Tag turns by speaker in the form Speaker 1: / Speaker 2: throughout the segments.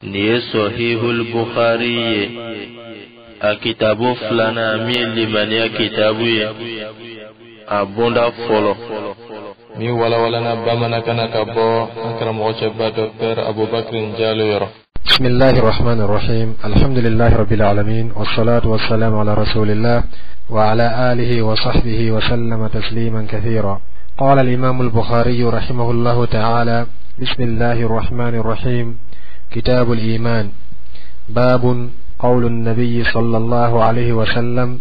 Speaker 1: Nin ye Sɔhihul Bukhari ye, a kitabu filanan min ye limaniya kitabu ye, a bonda fɔlɔ
Speaker 2: min walawalana bamanankan na ka bɔ an karamɔgɔ cɛba Dɔkitɛr Abubakar Jalo yɔrɔ.
Speaker 3: بسم الله الرحمن الرحيم، الحمد لله رب العالمين، والصلاة والسلام على رسول الله وعلى آله وصحبه وسلم تسليما كثيرا. قال الإمام البخاري رحمه الله تعالى: بسم الله الرحمن الرحيم، كتاب الإيمان، باب قول النبي صلى الله عليه وسلم: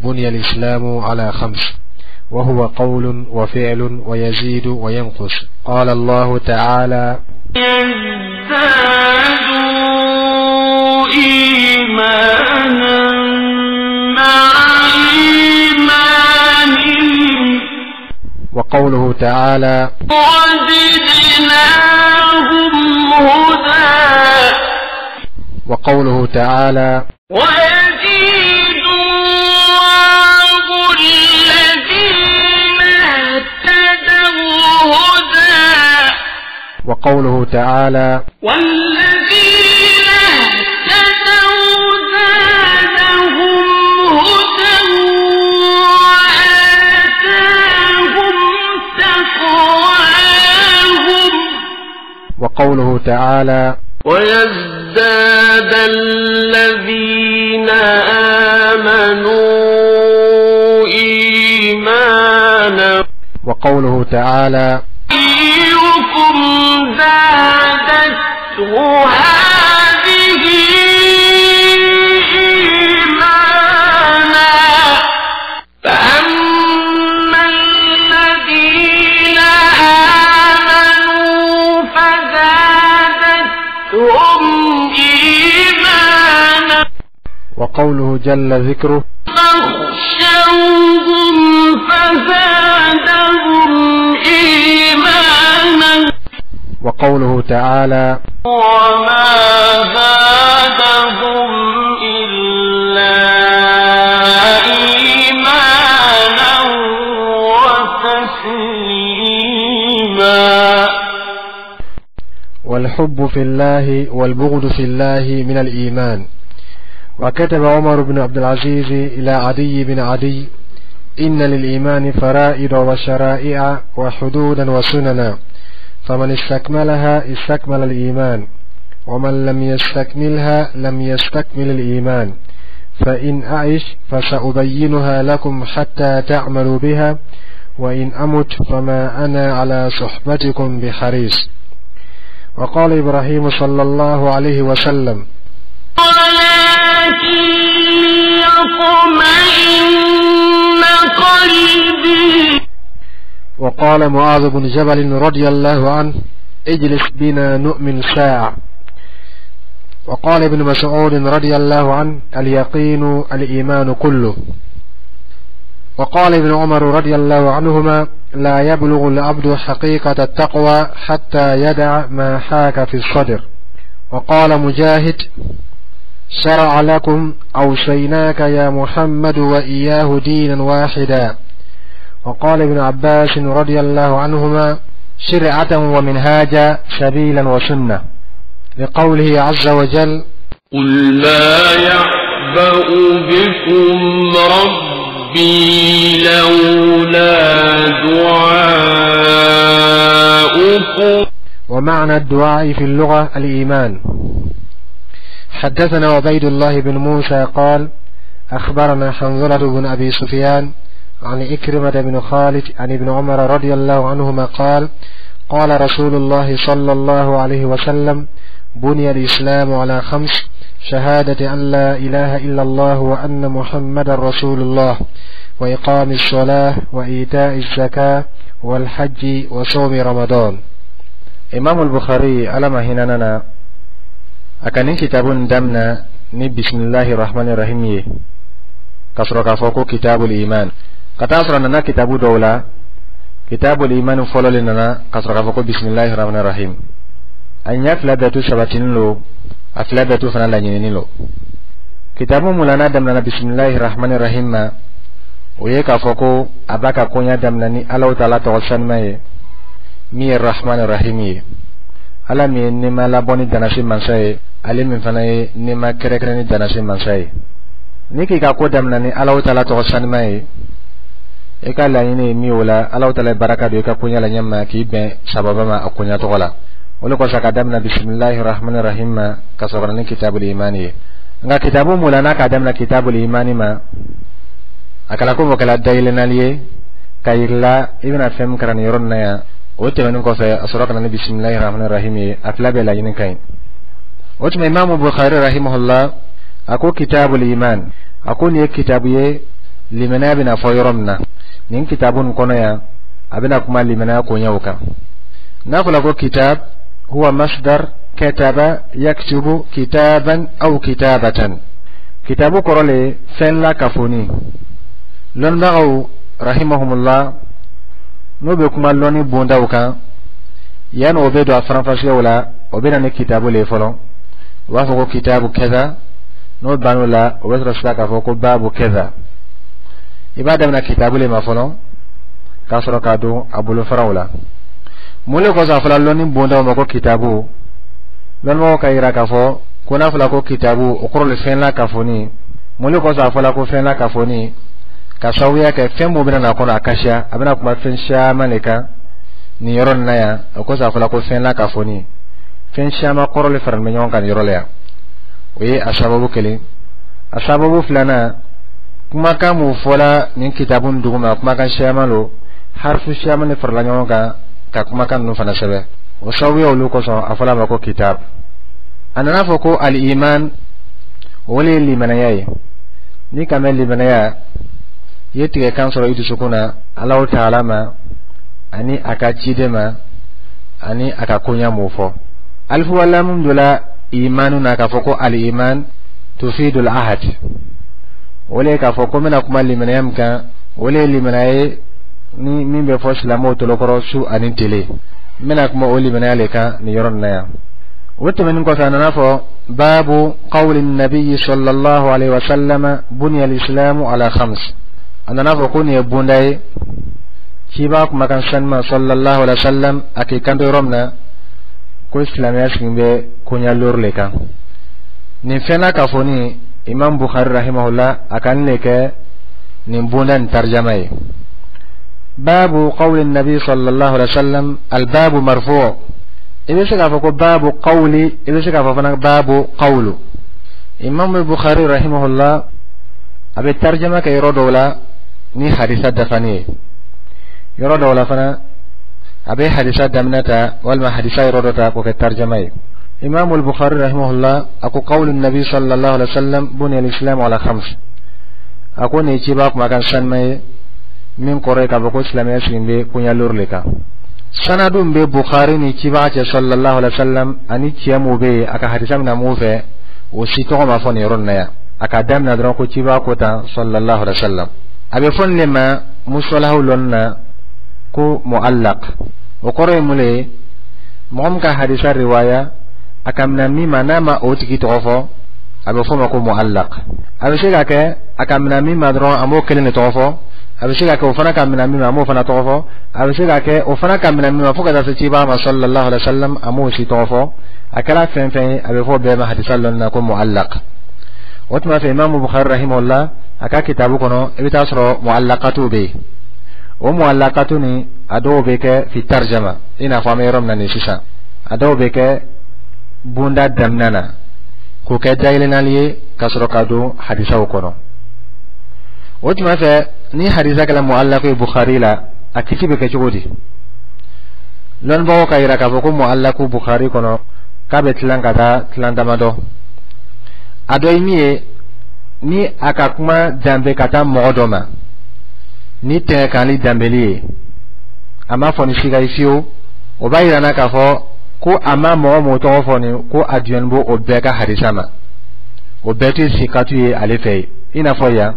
Speaker 3: بني الإسلام على خمس، وهو قول وفعل ويزيد وينقص. قال الله تعالى:
Speaker 4: يزدادوا إيمانا مع إيمانهم.
Speaker 3: وقوله تعالى:
Speaker 4: وزدناهم هدى.
Speaker 3: وقوله تعالى:
Speaker 4: ويزيد الله الذين اهتدوا هدى.
Speaker 3: وقوله تعالى:
Speaker 4: والذين اهتدوا زادهم هدى وآتاهم تقواهم.
Speaker 3: وقوله تعالى:
Speaker 4: ويزداد الذين آمنوا إيمانا.
Speaker 3: وقوله تعالى:
Speaker 4: أيكم زادته هذه إيمانا، فأما الذين آمنوا فزادتهم إيمانا.
Speaker 3: وقوله جل ذكره:
Speaker 4: فاخشوهم فزادهم إيمانا.
Speaker 3: وقوله تعالى:
Speaker 4: وما زادهم إلا إيمانا وتسليما.
Speaker 3: والحب في الله والبغض في الله من الإيمان. وكتب عمر بن عبد العزيز إلى عدي بن عدي: إن للإيمان فرائض وشرائع وحدودا وسننا، فمن استكملها استكمل الإيمان، ومن لم يستكملها لم يستكمل الإيمان، فإن أعش فسأبينها لكم حتى تعملوا بها، وإن أمت فما أنا على صحبتكم بحريص. وقال إبراهيم صلى الله عليه وسلم:
Speaker 4: ولكن ليطمئن قلبي.
Speaker 3: وقال معاذ بن جبل رضي الله عنه: اجلس بنا نؤمن ساعة. وقال ابن مسعود رضي الله عنه: اليقين الإيمان كله. وقال ابن عمر رضي الله عنهما: لا يبلغ العبد حقيقة التقوى حتى يدع ما حاك في الصدر. وقال مجاهد: شرع لكم أوصيناك يا محمد وإياه دينا واحدا. وقال ابن عباس رضي الله عنهما: شرعة ومنهاجا، سبيلا وسنة، لقوله عز وجل:
Speaker 4: قل ما يعبأ بكم ربي لولا دعاؤكم.
Speaker 3: ومعنى الدعاء في اللغة الإيمان. حدثنا عبيد الله بن موسى قال: أخبرنا حنظلة بن أبي سفيان عن إكرمة بن خالد عن ابن عمر رضي الله عنهما قال: قال رسول الله صلى الله عليه وسلم: بني الإسلام على خمس: شهادة أن لا إله إلا الله وأن محمد رسول الله، وإقام الصلاة، وإيتاء الزكاة، والحج، وصوم رمضان.
Speaker 2: Imam al-Bukhari, Ala ma hinana na, a ka nin kitabu nin damina ni bisimilahi rahmani rahim ye, ka sɔrɔ k'a fɔ ko kitabul iman. Ka taa sɔrɔ a nana kitabu dɔw la, kitabul iman fɔlɔ le nana ka sɔrɔ k'a fɔ ko bisimilahi rahmani rahim. A ɲɛ fila bɛɛ tu sabatinin lo, a fila bɛɛ tu fana laɲininin lo. Kitabu mun la n'a daminɛna bisimilahi rahmani rahim ma, o ye k'a fɔ ko a b'a ka koɲa daminɛ ni Alahu Taala tɔgɔ sanuma ye, min ye rahmani rahim ye. Ala min ye nɛɛma labɔ ni danasi mansa ye, ale min fana ye nɛɛma kɛrɛnkɛrɛn ni danasi mansa ye. Ni k'i ka ko damina ni Alahu Taala tɔgɔ sanima ye, i ka laɲini ye min ye, o la Alahu Taala ye baraka don i ka koɲɛ la ɲɛma k'i bɛn sababa ma a koɲɛ tɔgɔ la. O de kosɔn ka damina bisimilahi rahmani rahim ma, ka sɔrɔ ka na ni kitabul imani ye. Nka kitabu mun la n'a k'a damina kitabul imani ma, a kɛla ko o kɛla dayɛlɛnali ye ka yirila i bɛna fɛn min kalan nin yɔrɔ nin na yan. O tɛmɛnen kɔfɛ, a sɔrɔ ka na ni bisimilahi rahmani rahim ye. A fila bɛɛ laɲini ka ɲi. O tuma, Imaamu Bukhari rahimahullah a ko kitabul iman, a ko nin ye kitabu ye limaniya bɛna fɔ yɔrɔ min na. Nin kitabu nin kɔnɔ yan, a bɛna kuma limaniya koɲɛw kan. N'a fɔra ko kitab, huwa masdar kataba yaktubu kitaban aw kitabatan. Kitabu kɔrɔ le fɛn la kafoni. Lɔnnibagaw rahimahumullah, n'o bɛ kuma lɔnni bondaw kan, yanni o bɛ don a faranfasiyaw la, o bɛ na ni kitabu le ye fɔlɔ. U b'a fɔ ko kitabu kɛza. N'o bann'o la, o bɛ sɔrɔ sisan k'a fɔ ko baabu kɛza. I b'a daminɛ kitabu le ma fɔlɔ, k'a sɔrɔ k'a don a bolofaraw la. Mun le kosɔn a fɔla lɔnni bondaw ma ko kitabu? Lɔnnibagaw ka yira k'a fɔ ko n'a fɔla ko kitabu, o kɔrɔ le fɛn la kafoni. Mun le kosɔn a fɔla ko fɛn la kafoni? Ka sababuya kɛ fɛn mun bɛna na kɔnɔ, a ka siya, a bɛna kuma fɛn caman de kan nin yɔrɔ nin na yan. O kosɔn a fɔla ko fɛn la kafoni, fɛn caman kɔrɔ le faralen bɛ ɲɔgɔn kan nin yɔrɔ la yan. O ye a sababu kelen. A sababu filanan, kumakan mun fɔla nin kitabu nin duguma, kumakan caman lo, harifu caman de farala ɲɔgɔn kan ka kumakan ninnu fana sɛbɛn. O sababuya olu kosɔn a fɔla a ma ko kitab. A nana fɔ ko al-iman, o le ye limanaya ye. N'i ka mɛn limanaya, i ye tigɛkan sɔrɔ i dusukun na Alahu Taala ma, ani a ka ciden ma, ani a ka koɲa m'o fɔ. Alifu walamu dɔ la imanu na k'a fɔ ko al-iman tufidul ahad. O le ye k'a fɔ ko n bɛna kuma limanaya min kan, o le ye limanaya ye ni min bɛ fɔ silamɛw tolokɔrɔ su ani tele. N bɛna kuma o limanaya le kan nin yɔrɔ nin na yan. O tɛmɛnen kɔfɛ, a nana fɔ baabu qawli nabiyyi sallallahu alaihi wa sallam buniya al-islamu ala khams. A nana fɔ ko nin ye bonda ye ciba kumakan sanima sallallahu alaihi wa sallam, a k'i kanto yɔrɔ min na ko silamɛya sigi bɛ koɲa lori le kan. Nin fɛn na k'a fɔ ni Imam Bukhari rahimahullah a ka nin le kɛ nin bonda nin tarjama ye. Baabu qawli nabi sallallahu alaihi wa sallam, albabu marfu. I bɛ se k'a fɔ ko baabu qawli, i bɛ se k'a fɔ fana baabu qawlu. Imam Bukhari rahimahullah a bɛ tarjama kɛ yɔrɔ dɔw la ni hadisa dafani ye, yɔrɔ dɔw la fana a bɛ hadisa daminɛ ta walima hadisa yɔrɔ dɔ ta k'o kɛ tarjama ye. Imam al-Bukhari rahimahullah a ko qawlu nabi sallallahu alaihi wa sallam buniya al-islam ala khams. A ko nin ye ciba kumakan sanuma ye min kɔrɔ ye k'a fɔ ko silamɛya sigi bɛ koɲa lori le kan. Sanadu bɛ Bukhari ni cibaga cɛ sallallahu alaihi wa sallam, ani cɛ mun bɛ yen a ka hadisa mina mun fɛ, o si tɔgɔ ma fɔ nin yɔrɔ nin na yan. A ka daminɛ dɔrɔn ko cibaga ko tan sallallahu alaihi wa sallam. A bɛ fɔ nin de ma musalahu lɔnni na ko mu'allaq. O kɔrɔ ye mun le ye? Mɔgɔ min ka hadisa riwaya, a ka minɛ min ma, n'a ma o tigi tɔgɔ fɔ, a bɛ fɔ o ma ko mu'allaq. A bɛ se ka kɛ a ka minɛ min ma dɔrɔn, a m'o kelen de tɔgɔ fɔ. A bɛ se ka kɛ o fana ka minɛ min ma, a m'o fana tɔgɔ fɔ. A bɛ se ka kɛ o fana ka minɛ min ma fo ka taa se cibaga ma sallallahu alaihi wa sallam, a m'o si tɔgɔ fɔ. A kɛra fɛn fɛn ye, a bɛ fɔ bɛɛ ma hadisa lɔnni na ko mu'allaq. O tuma fɛ, Imaamu Bukhari rahimahullah a ka kitabu kɔnɔ, i bɛ taa sɔrɔ mu'allaqatu bɛ yen. O mu'allaqatu ni a dɔw bɛ kɛ fi tarjama, i n'a fɔ an bɛ yɔrɔ min na nin sisan. A dɔw bɛ kɛ bonda daminɛ na k'o kɛ dayɛlɛnali ye ka sɔrɔ ka don hadisaw kɔnɔ. O tuma fɛ, ni hadisa kɛra mu'allaqu ye Bukhari la, a kiti bɛ kɛ cogo di? Lɔnnibagaw ka yira k'a fɔ ko mu'allaqu Bukhari kɔnɔ, k'a bɛ tilan ka taa tilan damadɔ. A dɔ ye min ye, ni a ka kuma danbe ka taa mɔgɔ dɔ ma ni tɛgɛkanli danbeli ye, a ma fɔ ni siga ye fiyewu, o b'a yira n na k'a fɔ ko a ma mɔgɔ mɔgɔ tɔgɔ fɔ nin ko a diyɔni b'o o bɛɛ ka hadisa ma, o bɛɛ tɛ sikatu ye ale fɛ yen. I n'a fɔ yan,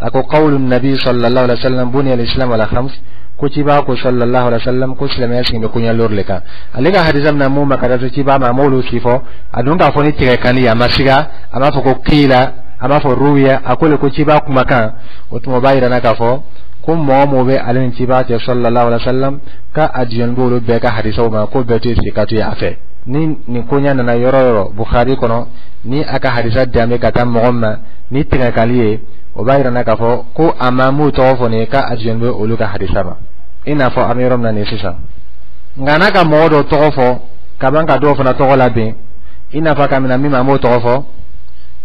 Speaker 2: a ko qawlu nabi sallallahu alaihi wa sallam buniya al-islam ala khams, ko ciba ko sallallahu alaihi wa sallam ko silamɛya sigi bɛ koɲɛ lori le kan. Ale ka hadisa mina mun ma ka taa se ciba ma, a m'olu si fɔ. A dun k'a fɔ ni tigɛkanni ye, a ma siga, a m'a fɔ ko kiila, a m'a fɔ ruwiya, a ko le ko ciba kumakan. O tuma, o b'a yira n na k'a fɔ ko mɔgɔ mɔgɔ bɛ ale ni ciba cɛ sallallahu alaihi wa sallam, k'a a diyɔni b'olu bɛɛ ka hadisaw ma, ko bɛɛ tɛ sikatu ye a fɛ. Ni nin koɲa nana yɔrɔ yɔrɔ Bukhari kɔnɔ, ni a ka hadisa danbe ka taa mɔgɔ ma ni tɛgɛkali ye, o b'a yira k'a fɔ ko a ma m'u tɔgɔ fɔ nin ye, k'a jɔn bɛ olu ka hadisa ma, i n'a fɔ an bɛ yɔrɔ min na nin sisan. Nka n'a ka mɔgɔ dɔw tɔgɔ fɔ ka ban ka dɔw fana tɔgɔ labɛn, i n'a fɔ ka minɛ min ma, an b'o tɔgɔ fɔ,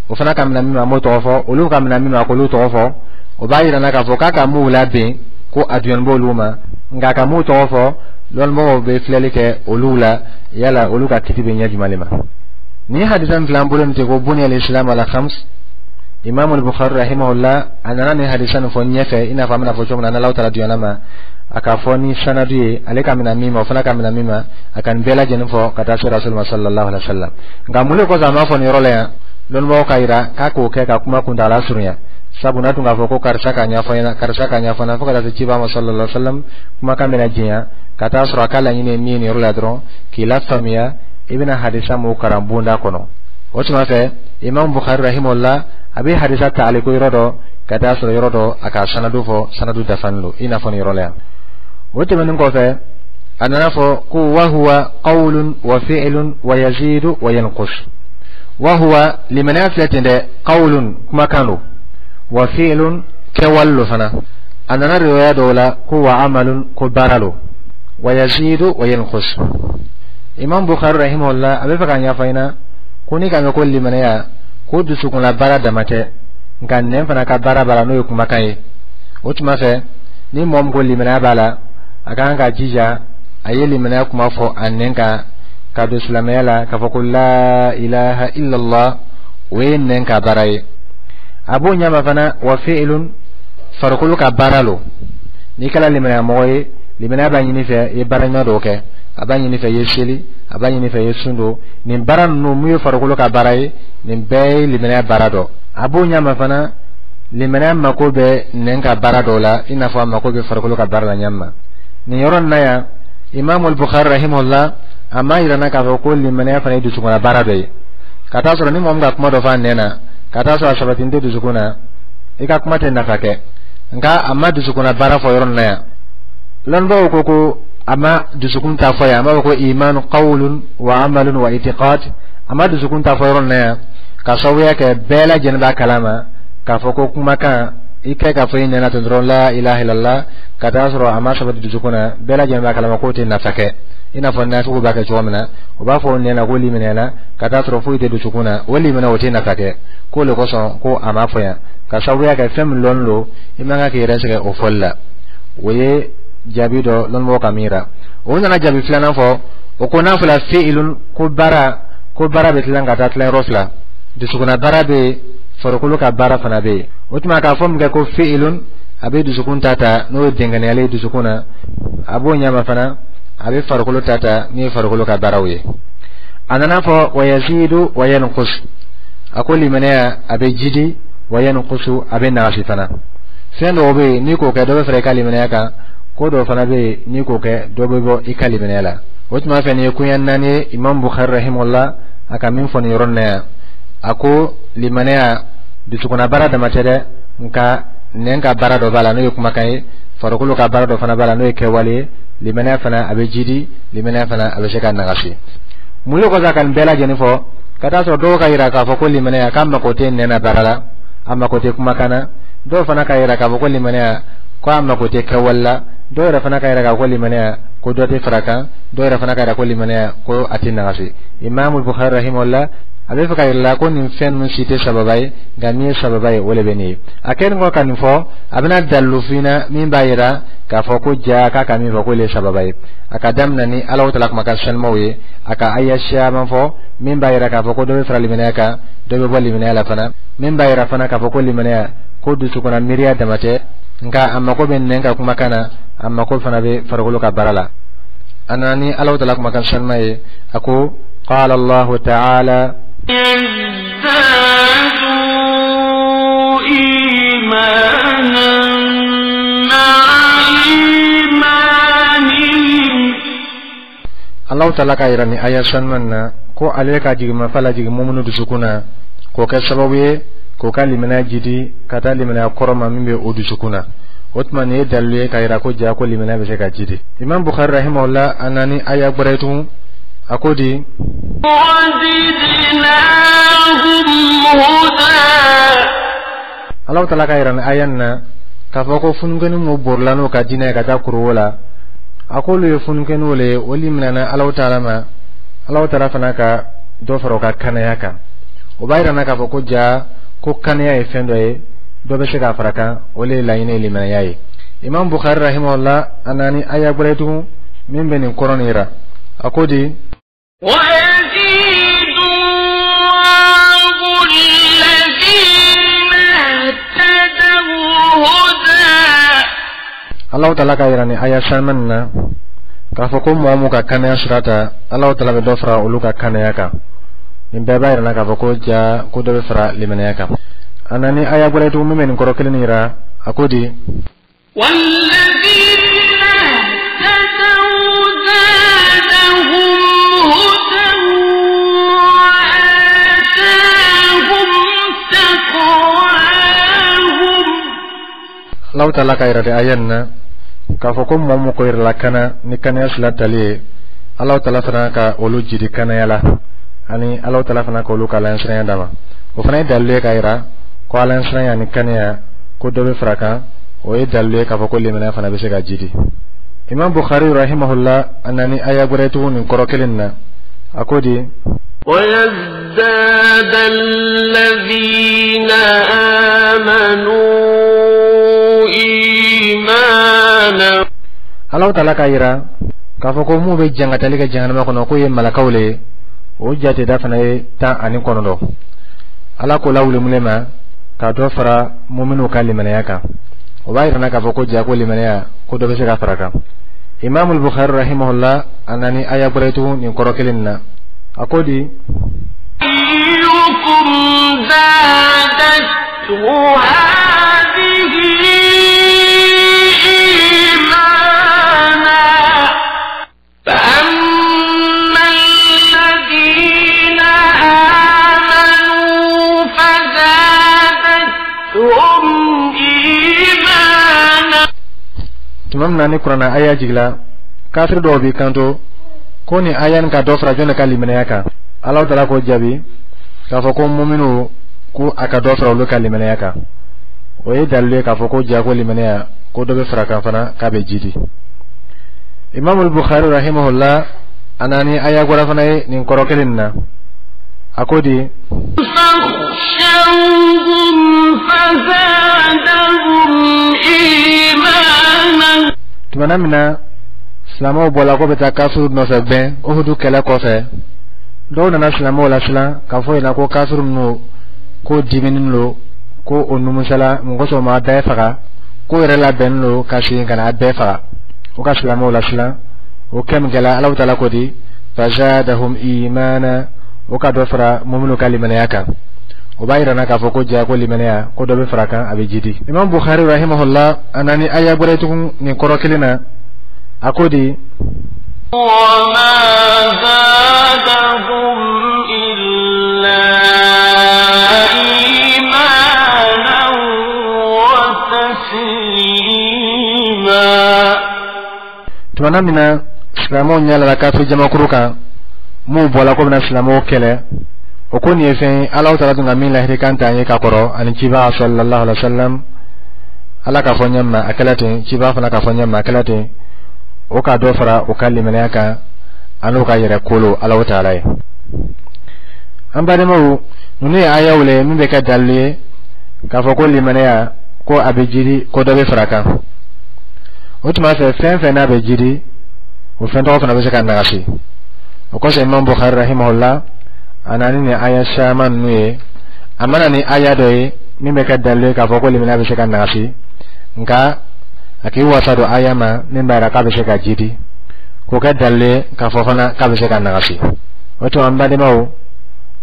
Speaker 2: o fana ka minɛ min ma, an b'o tɔgɔ fɔ, olu ka minɛ min ma, k'olu tɔgɔ fɔ, o b'a yira k'a fɔ k'a ka m'u labɛn ko a jɔn b'olu ma. Nka ka m'u tɔgɔ fɔ, lɔnnimɔgɔw bɛ filɛli kɛ olu la, yala olu ka kiti bɛ ɲɛ jumɛn de ma. Ni hadisa min filɛ an bolo nin ten ko بني الإسلام على خمس, Imam Bukhari رحمه الله a nana ni hadisa nin fɔ ɲɛfɛ, i n'a fɔ an bɛna fɔ cogo min na, n'Alahu taala diɲɛna ma, a ka fɔ ni sanadu ye, ale ka minɛ min ma, o fana ka minɛ min ma, a ka nin bɛɛ lajɛlen fɔ ka taa se Rasul ma صلى الله عليه وسلم. Nka mun de kosɔn a m'a fɔ nin yɔrɔ la yan? Lɔnnibagaw ka yira k'a k'o kɛ ka kuma kuntaala surunya, sabu n'a tun k'a fɔ ko karisa ka ɲɛfɔ ɲɛna, karisa ka ɲɛfɔ ɲɛna, fo ka taa se ciba ma صلى الله عليه وسلم, kumakan bɛna janya. Ka taa sɔrɔ a ka laɲini ye min ye nin yɔrɔ la dɔrɔn, k'i lafaamuya i bɛna hadisa mun karan bonda kɔnɔ. O tuma fɛ, Imam Bukhari رحمه الله a bɛ hadisa ta ale ko yɔrɔ dɔ ka taa sɔrɔ yɔrɔ dɔ a ka sanadu fɔ, sanadu dafalen don, i n'a fɔ nin yɔrɔ la yan. O tɛmɛnen kɔfɛ, a nana fɔ ko وهو قول وفعل ويزيد وينقص. وهو limaniya filɛ ten dɛ, قول kumakan don, وفعل kɛwale lo fana. A nana riwaya dɔw la ko وعمل ko baara lo, ويزيد وينقص. Imam Bukhari رحمه الله a bɛ fɛ k'a ɲɛfɔ an ɲɛna ko ni ka mɛn ko limaniya, ko dusukunla baara dama tɛ, nka nɛn fana ka baara b'a la, n'o ye kumakan ye. O tuma fɛ, ni mɔgɔ min ko limaniya b'a la, a kan ka jija a ye limaniya kuma fɔ a nɛn kan ka don silamɛya la, k'a fɔ ko لا إله إلا الله, o ye nɛn ka baara ye. A b'o ɲɛma fana, وفعل farikolo ka baara lo. N'i kɛra limaniya mɔgɔ ye, limaniya b'a ɲini fɛ i ye baara ɲuman dɔw kɛ, a b'a ɲini fɛ i ye seli, a b'a ɲini fɛ i ye sun don. Nin baara ninnu mun ye farikolo ka baara ye, nin bɛɛ ye limaniya baara dɔ. A b'o ɲɛma fana, limaniya mako bɛ nɛn ka baara dɔw la, i n'a fɔ a mako bɛ farikolo ka baara la ɲɛma. Nin yɔrɔ nin na yan, Imam Bukhari رحمه الله a m'a yira n na k'a fɔ ko limaniya fana ye dusukunna baara dɔ ye, ka taa sɔrɔ ni mɔgɔ min ka kuma dɔ fɔ a nɛn na, ka taa sɔrɔ a sabatinin tɛ dusukun na, i ka kuma tɛ nafa kɛ. Nka a ma dusukunna baara fɔ yɔrɔ nin na yan. Lɔnnibaaw ko a ma dusukun ta fɔ yan, a b'a fɔ ko إيمان قول وعمل واعتقاد. A ma dusukun ta fɔ yɔrɔ nin na yan ka sababuya kɛ bɛɛ lajɛlen b'a kalama k'a fɔ ko kumakan i kɛ k'a fɔ i nɛna ten dɔrɔn لا إله إلا الله, ka taa sɔrɔ a ma sabati dusukun na, bɛɛ lajɛlen b'a kalama k'o tɛ nafa kɛ, i n'a fɔ nafigiw b'a kɛ cogo min na, o b'a fɔ nɛna ko liminɛna, ka taa sɔrɔ foyi tɛ dusukun na, o limina o tɛ nafa kɛ. K'o le kosɔn ko a ma fɔ yan, ka sababuya kɛ fɛn min lɔnni don, i man kan k'i yɛrɛ sɛgɛn o fɔli la. O ye jaabi dɔ lɔnnibagaw ka min yira. O nana jaabi filanan fɔ, o ko n'a fɔra فعل ko baara, ko baara bɛ tilan ka taa tilayɔrɔ fila: dusukunna baara bɛ yen, farikolo ka baara fana bɛ yen. O tuma k'a fɔ min kɛ ko فعل, a bɛ dusukun ta ta, n'o ye dɛnkɛnɛyalen ye dusukun na. A b'o ɲɛma fana, a bɛ farikolo ta ta, min ye farikolo ka baaraw ye. A nana fɔ ويزيد وينقص. A ko limaniya a bɛ jidi, وينقص a bɛ nagasi fana. Fɛn dɔw bɛ yen, n'i k'o kɛ, dɔ bɛ fara i ka limaniya kan. Ko dɔw fana bɛ yen, n'i k'o kɛ, dɔ bɛ bɔ i ka limaniya la. O tuma fɛ, nin ye koɲɛ naani ye Imam Bukhari رحمه الله a ka min fɔ nin yɔrɔ nin na yan. A ko limaniya dusukunna baara dama tɛ dɛ, nka nɛn ka baara dɔ b'a la, n'o ye kumakan ye, farikolo ka baara dɔ fana b'a la, n'o ye kɛwale ye. Limaniya fana a bɛ jidi, limaniya fana a bɛ se ka nagasi. Mun de kosɔn a ka nin bɛɛ lajɛlen fɔ, ka taa sɔrɔ dɔw ka yira k'a fɔ ko limaniya k'a mako tɛ nɛn na baara la, a mako tɛ kumakan na? Dɔw fana ka yira k'a fɔ ko limaniya ko a mako tɛ kɛwale la. Dɔw yɛrɛ fana ka yira k'a fɔ ko limaniya ko dɔ tɛ fara kan. Dɔw yɛrɛ fana ka yira ko limaniya ko a tɛ nagasi. Imam Bukhari رحمه الله a bɛ fɛ ka yira la ko nin fɛn ninnu si tɛ sababa ye, nka min ye sababa ye, o de bɛ nin ye. A kɛlen kɔ ka nin fɔ, a bɛna dalilu f'i ɲɛna min b'a yira k'a fɔ ko ja k'a ka min fɔ k'o le ye sababa ye. A ka daminɛ ni Alahu taala kumakan sanumaw ye, a ka aya caman fɔ min b'a yira k'a fɔ ko dɔ bɛ fara limaniya kan, dɔ bɛ bɔ limaniya la fana, min b'a yira fana k'a fɔ ko limaniya ko dusukunna miiriya dama tɛ, nka a mako bɛ nɛn ka kumakan na, a mako fana bɛ farikolo ka baara la. A nana ni Alahu taala kumakan sanuma ye, a ko قال الله تعالى
Speaker 4: يزدادوا إيمانا مع إيمانهم.
Speaker 2: Alahu taala k'a yira ni aya sanuman na ko ale ka jigimafa lajigin mumunu dusukun na, k'o kɛ sababu ye k'o ka limaniya jidi ka taa limaniya kɔrɔ ma min bɛ o dusukun na. O tuma nin ye dalilu ye k'a yira ko ja ko limaniya bɛ se ka jidi. Imam Bukhari رحمه الله a nana ni aya gbɛrɛ ye tugun. A ko di?
Speaker 4: وزدناهم هدى.
Speaker 2: Alahu Taala ka yira ni aya nin na k'a fɔ ko fununkɛni mun borila n'o ka diinɛ ye ka taa kuruwo la, a k'olu ye fununkɛniw le ye, olu minɛna Alahu Taala ma, Alahu Taala fana ka dɔ fara o ka kanaya kan. O b'a yira na k'a fɔ ko ja ko kanaya ye fɛn dɔ ye, dɔ bɛ se k'a fara kan, o le ye laɲini ye limanaya ye. Imam Bukhari rahimahullah, a nani aya gbɛrɛ tugun min bɛ nin kɔrɔ nin yira. A ko di?
Speaker 4: ويزيد الله الذين اهتدوا هدى.
Speaker 2: Alahu Taala ka yira ni aya saman na k'a fɔ ko mɔgɔ mun ka kanaya sira ta, Alahu Taala bɛ dɔ fara olu ka kanaya kan. Nin bɛɛ b'a yira na k'a fɔ ko ja ko dɔ bɛ fara limanaya kan. A nani aya gbɛrɛ tugun min bɛ nin kɔrɔ kelen nin yira. A ko di?
Speaker 4: والذين اهتدوا زادهم هدى وآتاهم تقواهم.
Speaker 2: Alahu Taala ka yira de aya nin na k'a fɔ ko mɔgɔ mun ko yɛrɛ la kana ni kanaya sila tali ye, Alahu Taala fana ka olu jidi kanaya la, ani Alahu Taala fana ka olu ka alaɲɛsiranya d'a ma. O fana ye dalilu ye k'a yira ko alaɲɛsiranya ni kanaya, ko dɔ bɛ fara kan. O ye dalilu ye k'a fɔ ko limanaya fana bɛ se ka jidi. Imam Bukhari rahimahullah, a nani aya gbɛrɛ tugun nin kɔrɔ kelen nin na. A ko di?
Speaker 4: ويزداد الذين آمنوا إيمانا.
Speaker 2: Alahu Taala k'a yira k'a fɔ ko mun bɛ jangatali kɛ jahanama kɔnɔ, k'o ye malakaw le ye. O jateda fana ye 19. Ala ko lawuli mun ma ka dɔ fara muminiw ka limanaya kan. O b'a yira na k'a fɔ ko ja ko limanaya, ko dɔ bɛ se ka fara kan. Imam Bukhari rahimahullah, a nani aya gbɛrɛ tugun nin kɔrɔ kelen nin na. A ko di?
Speaker 4: أيكم زادته هذه إيمانا، فأما الذين آمنوا فزادتهم إيمانا.
Speaker 2: Tuma min na ni Kuranna aya jigila, kafiri dɔw b'i kanto ko nin aya nin ka dɔ fara jɔn de ka limanaya kan? Alahu Taala k'o jaabi k'a fɔ ko muminiw, ko a ka dɔ fara olu ka limanaya kan. O ye dalilu ye k'a fɔ ko ja ko limanaya, ko dɔ bɛ fara kan fana, k'a bɛ jidi. Imam Bukhari rahimahullah, a nani aya gbɛrɛ fana ye nin kɔrɔ kelen nin na. A ko di?
Speaker 4: فاخشوهم فزادهم إيمانا.
Speaker 2: Tumana min na silamɛw bɔla ko bɛ taa kafiriw nɔfɛ gbɛn Uhudu kɛlɛ kɔfɛ, dɔw nana silamɛw lasiran k'a fɔ ɲɛna ko kafiri ninnu ko diminen don, ko o numusala mun kosɔn o ma bɛɛ faga, ko yɛrɛ labɛnnen don ka segin ka na a bɛɛ faga. O ka silamɛw lasiran. O kɛ min kɛla, Alahu Taala ko di? Fazadahum imana. O ka dɔ fara muminu ka limanaya kan. O b'a yira na k'a fɔ ko ja ko limanaya, ko dɔ bɛ fara kan, a bɛ jidi. Imam Bukhari rahimahullah, a nani aya gbɛrɛ tugun nin kɔrɔ kelen na. A ko di?
Speaker 4: وما زادهم إلا إيمانا وتسليما.
Speaker 2: Tumana min na silamɛw ɲɛ lala kafiri jamakuru kan mun bɔla ko bɛna silamɛw kɛlɛ, o ko nin ye fɛn ye Alahu Taala tun ka min lahirikan t'an ye ka kɔrɔ ani ciba sallallahu alaihi wa sallam. Ala k'a fɔ ɲɛ ma a kɛla ten, ciba fana k'a fɔ ɲɛ ma a kɛla ten. O ka dɔ fara o ka limanaya kan an'o ka yɛrɛ kolo Alahu Taala ye. An badenmaw, ninnu ye ayaw le min bɛ kɛ dalilu ye k'a fɔ ko limanaya, ko a bɛ jidi, ko dɔ bɛ fara kan. O tuma fɛ, fɛn fɛn n'a bɛ jidi, o fɛn tɔgɔ fana bɛ se ka nagasi. O kosɔn Imam Bukhari rahimahullah, a nana ni aya caman ninnu ye. A mana ni aya dɔ ye min bɛ kɛ dalilu ye k'a fɔ ko limaniya bɛ se ka nagasi, nka a k'i wasa don aya ma min b'a yira k'a bɛ se ka jidi, k'o kɛ dalilu ye k'a fɔ fana k'a bɛ se ka nagasi. O tuma, an badenmaw,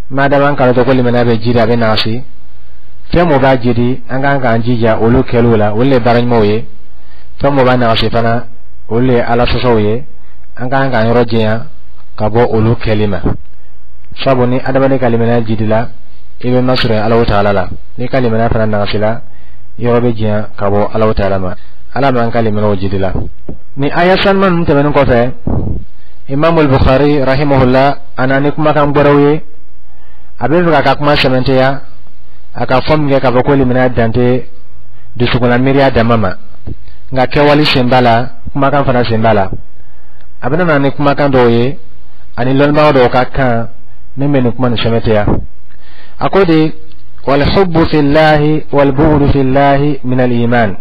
Speaker 2: madama an k'a dɔn ko limaniya bɛ jidi, a bɛ nagasi, fɛn mun b'a jidi, an kan k'an jija olu kɛliw la, olu le ye baara ɲumanw ye. Fɛn mun b'a nagasi fana, olu le ye Ala sɔsɔw ye, an kan k'an yɔrɔ janya ka bɔ olu kɛli ma. Sabu ni adamaden ka limaniya jidila, i bɛ masurunya Alahu Taala la. N'i ka limaniya fana nagasila, yɔrɔ bɛ janya ka bɔ Alahu Taala ma. Ala m'an ka limaniyaw jidila. Ni aya sanuman ninnu tɛmɛnen kɔfɛ, Imam al-Bukhari rahimahullah a na ni kumakan gbɛrɛw ye, a bɛ fɛ k'a ka kuma sɛmɛntiya, a ka fɔ min kɛ k'a fɔ ko limaniya dan tɛ dusukunna miiriya dama ma, nka kɛwale sen b'a la, kumakan fana sen b'a la. A bɛna na ni kumakan dɔw ye ani lɔnnibaga dɔw ka kan min bɛ nin kuma nin sɛmɛntiya. A ko de: والحب في الله والبغض في الله من الإيمان.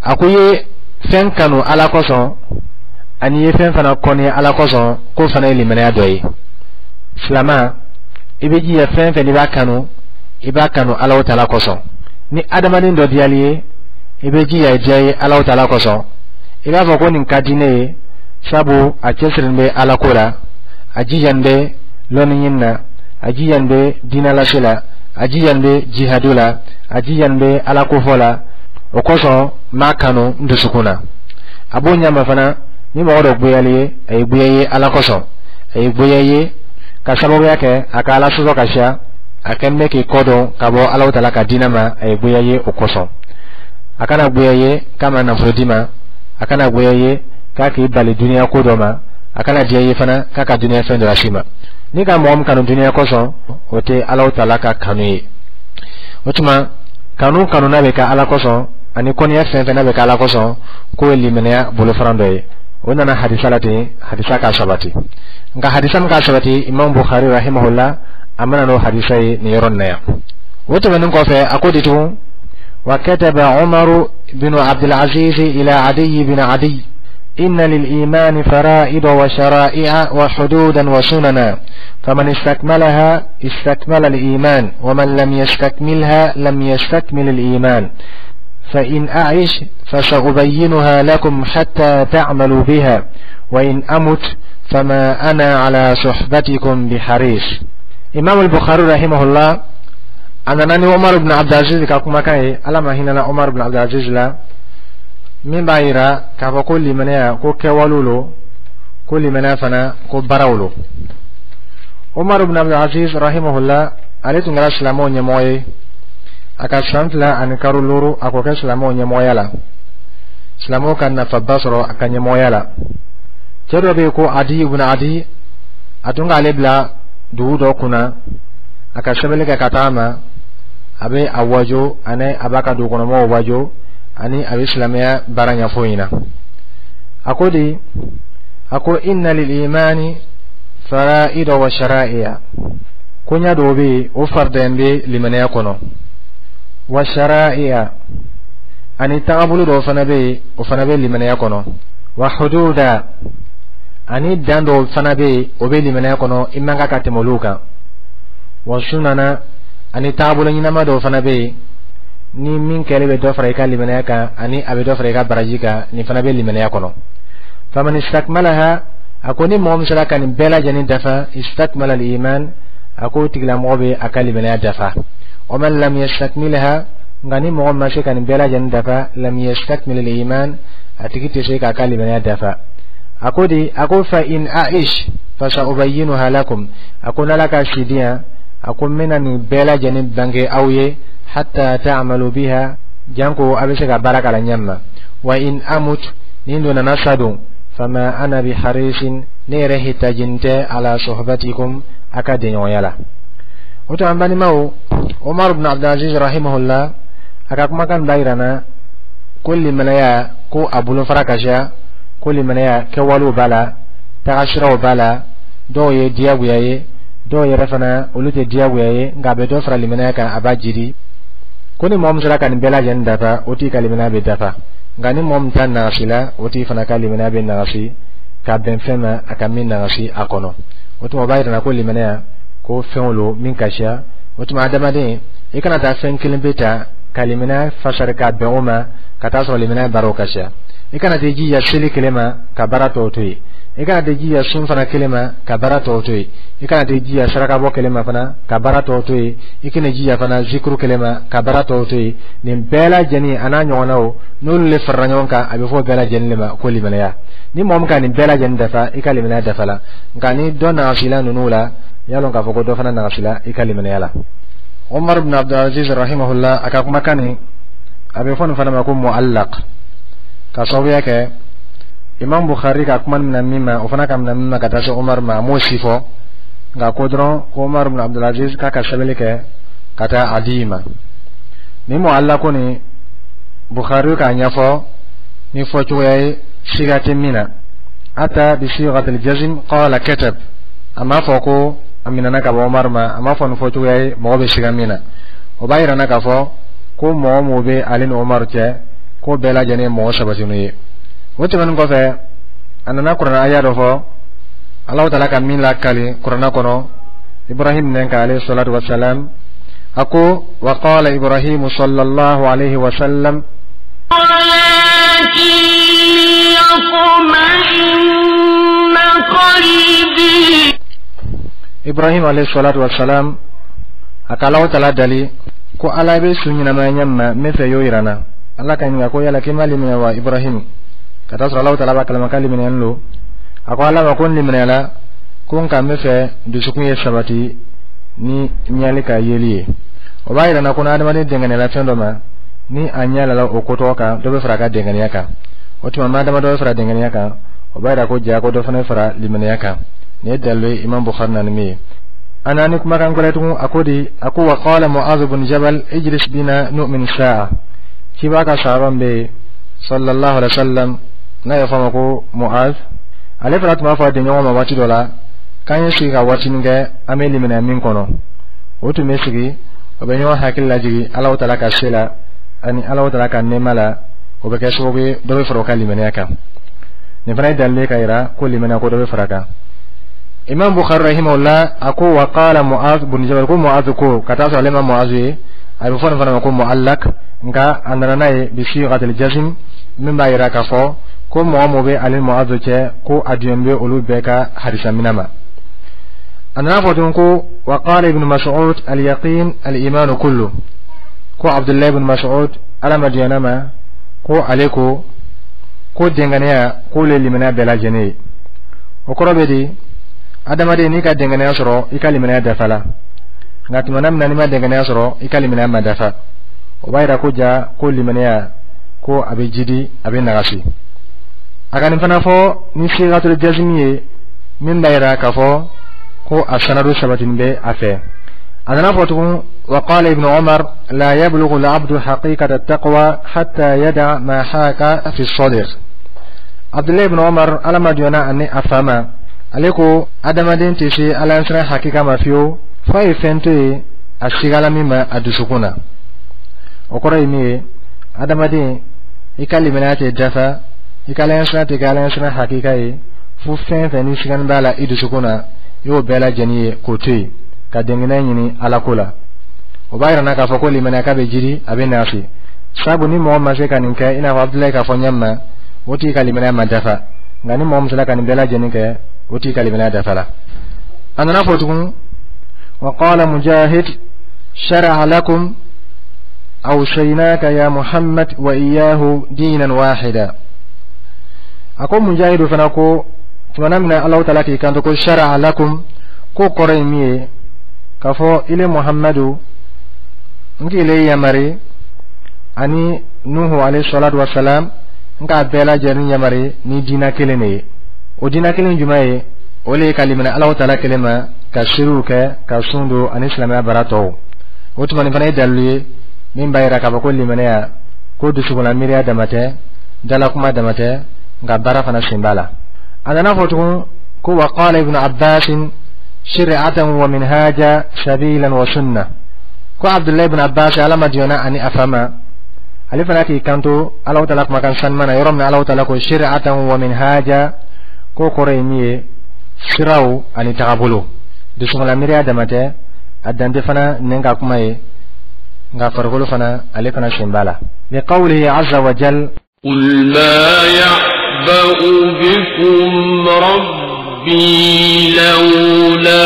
Speaker 2: A ko i ye fɛn kanu Ala kosɔn ani i ye fɛn fana kɔni Ala kosɔn, k'o fana ye limaniya dɔ ye. Silama, i bɛ jija fɛn fɛn n'i b'a kanu, i b'a kanu Alahu Taala kosɔn. Ni adamaden dɔ diyali ye, i bɛ jija i diya ye Alahu Taala kosɔn. I b'a fɔ ko nin ka di ne ye sabu a cɛsirilen bɛ Ala ko la, a jijalen bɛ lɔnni ɲini na, a jijalen bɛ diinɛ lase la, a jijalen bɛ jihadu la, a jijalen bɛ Ala kofɔ la. O kosɔn n b'a kanu n dusukun na. A b'o ɲama fana, ni mɔgɔ dɔ goyali ye, a ye goya ye Ala kosɔn, a ye goya ye ka sababuya kɛ a ka Ala sɔsɔ ka siya, a kɛlen bɛ k'i kɔ dɔn ka bɔ Alahu Taala ka diinɛ ma, a ye goya ye o kosɔn. A kana goya ye k'a ma nafolo d'i ma, a kana goya ye k'a k'i bali duniya ko dɔ ma, a kana diya ye fana k'a ka duniya fɛn dɔ las'i ma. Ni ka mɔgɔ min kanu duniya kosɔn, o tɛ Alahu Taala ka kanu ye. O tuma kanu kanu n'a bɛ kɛ Ala kosɔn ani kɔniya fɛn fɛn n'a bɛ kɛ Ala kosɔn, k'o ye limaniya bolofaran dɔ ye. O nana hadisa la ten, hadisa k'a sabati. Nka hadisa min k'a sabati, Imam Bukhari rahimahullah a mana n'o hadisa ye nin yɔrɔ nin na yan. O tɛmɛnen kɔfɛ, a ko di tugun: وكتب عمر بن عبد العزيز إلى عدي بن عدي: إن للإيمان فرائض وشرائع وحدودا وسننا، فمن استكملها استكمل الإيمان، ومن لم يستكملها لم يستكمل الإيمان. فإن أعش فسأبينها لكم حتى تعملوا بها، وإن أمت فما أنا على صحبتكم بحريص. إمام البخاري رحمه الله a nana ni Umar ibn Abdulaziz ka kumakan ye, Ala ma hinɛna Umar ibn Abdulaziz la, min b'a yira k'a fɔ ko limaniya ko kɛwalew lo, ko limaniya fana ko baaraw lo. Umar ibn Abdulaziz rahimahullah, ale tun kɛra silamɛw ɲɛmɔgɔ ye. A ka san 2 ani karo 5 a k'o kɛ silamɛw ɲɛmɔgɔya la. Silamɛw ka nafaba sɔrɔ a ka ɲɛmɔgɔya la. Cɛ dɔ bɛ yen ko Adi ibn Adi, a tun k'ale bila dugu dɔ kunna, a ka sɛbɛnni kɛ ka taga ma, a bɛ a wajo ani a b'a ka dugukɔnɔmɔgɔw wajo ani a bɛ silamɛya baara ɲɛfɔ ɲɛna. A ko di? A ko: إن للإيمان فرائض وشرائع. Koɲa dɔw bɛ yen, o faridayen bɛ limaniya kɔnɔ. وشرائع, ani tagabolo dɔw fana bɛ yen, o fana bɛ limaniya kɔnɔ. وحدودا, ani dan dɔw fana bɛ yen, o bɛ limaniya kɔnɔ, i man kan ka tɛmɛ olu kan. وسننا, ani taabolo ɲɛnama dɔw fana bɛ yen, ni min kɛlen bɛ dɔ fara i ka limaniya kan ani a bɛ dɔ fara i ka baraji kan, nin fana bɛ limaniya kɔnɔ. فمن استكملها, a ko ni mɔgɔ min sera ka nin bɛɛ lajɛlen dafa, استكمل الإيمان, a ko o tigilamɔgɔ bɛ a ka limaniya dafa. ومن لم يستكملها, nka ni mɔgɔ ma se ka nin bɛɛ lajɛlen dafa, لم يستكمل الإيمان, a tigi tɛ se k'a ka limaniya dafa. A ko di? A ko: فإن أعش فسأبينها لكم. A ko n'Ala ka si di yan, a ko n bɛna nin bɛɛ lajɛlen bange aw ye, حتى تعملوا بها, janko a bɛ se ka baara k'a la ɲɛ ma. وإن أمت, ni n donna sa don, فما أنا بحريص, ne yɛrɛ hitajin tɛ, على صحبتكم, a ka denɲɔgɔnya la. O tuma, an balimaw, Umar ibn Abdulaziz rahimahullah a ka kumakan b'a yira na ko limanaya ko a bolofara ka siya, ko limanaya kɛwalew b'a la, tagasiraw b'a la. Dɔw ye diyagoya ye, dɔw yɛrɛ fana olu tɛ diyagoya ye, nka a bɛ dɔ fara limanaya kan, a b'a jidi. Ko ni mɔgɔ min sera ka nin bɛɛ lajɛlen dafa, o tigi ka limanaya bɛ dafa. Nka ni mɔgɔ min ta nagasi la, o tigi fana ka limanaya bɛ nagasi ka bɛn fɛn ma a ka min nagasi a kɔnɔ. O tuma o b'a yira ko limanaya ko fɛnw lo min ka siya. O tuma, adamaden, i kana taa fɛn kelen pe ta ka limanaya fasari ka bɛn o ma ka taa sɔrɔ limanaya baaraw ka siya. I kana t'i jija seli kelen ma ka baara tɔw to yen. I kana t'i jija sun fana kelen ma ka baara tɔw to yen. I kana t'i jija sarakabɔ kelen ma fana ka baara tɔw to yen. I kana jija fana zikuru kelen ma ka baara tɔw to yen. Nin bɛɛ lajɛlen a n'a ɲɔgɔnnaw, n'olu le farala ɲɔgɔn kan, a bɛ fɔ bɛɛ lajɛlen de ma ko limanaya. Ni mɔgɔ min ka nin bɛɛ lajɛlen dafa, i ka limanaya dafa la. Nka ni dɔ nagasila ninnu la, y'a lɔn k'a fɔ ko dɔ fana nagasila i ka limanaya la. Umar ibn Abdulaziz rahimahullah a ka kumakan nin, a bɛ fɔ nin fana ma ko mu'allaq, ka sababuya kɛ Imam Bukhari ka kuma minɛ min ma, o fana ka minɛ min ma ka taa se Umar ma, a m'o si fɔ, nka ko dɔrɔn ko Umar ibn Abdulaziz k'a ka sɛbɛnni kɛ ka taa Adi ma. Ni mu'allaqu ni Bukhari k'a ɲɛfɔ ni fɔcogoya ye siga tɛ min na, ata bi sighatil jazm qala katab, a m'a fɔ ko a minɛna ka bɔ Umar ma, a m'a fɔ ni fɔcogoya ye mɔgɔ bɛ siga min na. O b'a yira n na k'a fɔ ko mɔgɔ mɔgɔ bɛ ale ni Umar cɛ, ko bɛɛ lajɛlen ye mɔgɔ sabatinu ye. O tɛmɛnen kɔfɛ, a nana kuranɛ aya dɔ fɔ, Alahu taala ka min lakali kuranɛ kɔnɔ Ibrahim nɛn kan alayhi salatu wa salam. A ko wa qala Ibrahim sallallahu alayhi wa sallam
Speaker 4: ولكن ليطمئن قلبي.
Speaker 2: Ibrahim alayhi salatu wa salam a ka Alahu taala dali ko Ala bɛ su ɲɛnamaya ɲɛ min ma, n bɛ fɛ y'o yira n na. Ala ka ɲininka ko yala k'i ma limaniya wa, Ibrahim? Ka taa sɔrɔ Alahu taala b'a kalama k'a limaniyalen don. A ko Ala ma ko n limaniyala ko, nka n bɛ fɛ dusukun ye sabati ni ɲali ka yeli ye. O b'a yira n na ko ni adamaden dɛngɛniyala fɛn dɔ ma, ni a ɲɛ lala o ko tɔgɔ kan, dɔ bɛ fara a ka dɛngɛniya kan. O tuma ma adama dɔ bɛ fara dɛngɛniya kan, o b'a yira ko ja ko dɔ fana bɛ fara limaniya kan. Nin ye dalilu ye Imam Bukhari na ni min ye. A nana ni kumakan wɛrɛ tugun. A ko di? A ko wa qala Mu'adh bin Jabal ijlis bina nu'min sa'a. Ciba ka sahaba bɛ yen sallallahu alaihi wa sallam, n'a y'a fɔ a ma ko Mu'adh, ale fana tun b'a fɔ a denɲɔgɔn ma waati dɔ la k'an ye sigi ka waatinin kɛ, an bɛ limaniya min kɔnɔ. O tun bɛ sigi, o bɛ ɲɔgɔn hakili lajigin Alahu taala ka se la ani Alahu taala ka nɛɛma la. O bɛ kɛ sababu ye dɔ bɛ fara o ka limaniya kan. Nin fana ye dalilu ye ka yira ko limaniya ko dɔ bɛ fara a kan. Imam Bukhari rahimahullah a ko wa qala Mu'adh bin Jabal, ko Mu'adh ko, ka taa sɔrɔ ale ma Mu'adh ye, a bɛ fɔ nin fana ma ko mu'allaq, nka a nana n'a ye bi sighatil jazm, min b'a yira k'a fɔ ko mɔgɔ mɔgɔ bɛ ale ni Mu'adh cɛ, ko a diɲɛ bɛ olu bɛɛ ka hadisa minɛ ma. A nana fɔ tun ko wa qala Ibn Mas'ud al yaqin al iman kullu, ko Abdullahi ibn Mas'ud, Ala ma diɲɛ ma, ko ale ko ko dɛngɛnɛya k'o le limaniya bɛɛ lajɛlen ye. O kɔrɔ bɛ di? Adamaden, n'i ka dɛngɛnɛya sɔrɔ, i ka limaniya dafa la, nka tuma min na n'i ma dɛngɛnɛya sɔrɔ, i ka limaniya ma dafa. O b'a yira ko ja ko limaniya ko a bɛ jidi, a bɛ nagasi. A ka nin fana fɔ ni sigatul jazmi ye, min b'a yira k'a fɔ ko a sanadu sabatini bɛ a fɛ. A nana fɔ tugun wa qala Ibn Umar la yablughu al-abdu haqiqata at-taqwa hatta yada ma haka fi sadr. Abdullahi ibn Umar, Ala ma jɔnna ani a fa ma, ale ko adamaden tɛ se Ala siran hakika ma fiyewu f'a ye fɛn to yen a sigala min ma a dusukun na. O kɔrɔ ye min ye, adamaden, i ka limaniya tɛ dafa, i ka Ala siran tɛ kɛ Ala siran hakika ye fo fɛn fɛn ni sigani b'a la i dusukun na, i y'o bɛɛ lajɛlen ye k'o to yen ka dɛngɛnɛ ɲini Ala ko la. O b'a yira n na k'a fɔ ko limaniya k'a bɛ jiri, a bɛ nasi, sabu ni mɔgɔ ma se ka nin kɛ i n'a fɔ Abudulayi k'a fɔ ɲɛ ma, o tigi ka limaniya ma dafa. Nka ni mɔgɔ min sera ka nin bɛɛ lajɛlen kɛ, o tigi ka limaniya dafa la. A nana fɔ tugun wa qala Mujahid shara'a lakum awsaynaka ya Muhammad wa iyyahu dinan wahida. A ko Mujahidu fana ko tumana min na Alahu taala k'i kanto ko shara'a lakum, ko kɔrɔ ye min ye k'a fɔ ile Muhammadu, n k'ile yamari ani Nuhu alayhi salatu wa salam, n k'a bɛɛ lajɛlen yamari ni diina kelen de ye. O diina kelen jumɛn ye? O le ye ka limaniya Alahu taala kelen ma, ka seeriw kɛ, ka sun don, ani silamɛya baara tɔw. O tuma nin fana ye dalilu ye min b'a yira k'a fɔ ko limaniya ko dusukunna miiriya dama tɛ, dalakuma dama tɛ, nka baara fana sen b'a la. A nana fɔ tugun ko wa qala Ibnu Abbas shir'atan wa minhaja sabilan wa sunna, ko Abdullahi ibn Abbas, Ala ma diɲɛna ani a fa ma, ale fana k'i kanto Alahu taala kumakan sanuma na yɔrɔ min na Alahu taala ko shir'atan wa minhaja, ko kɔrɔ ye min ye, siraw ani tagabolo. Dusukunna miiriya dama tɛ, a dante fana nɛn ka kuma ye, nka farikolo fana, ale fana sen b'a la, liqawlihi azza wa jal
Speaker 4: قل ما يعبأ بكم ربي لولا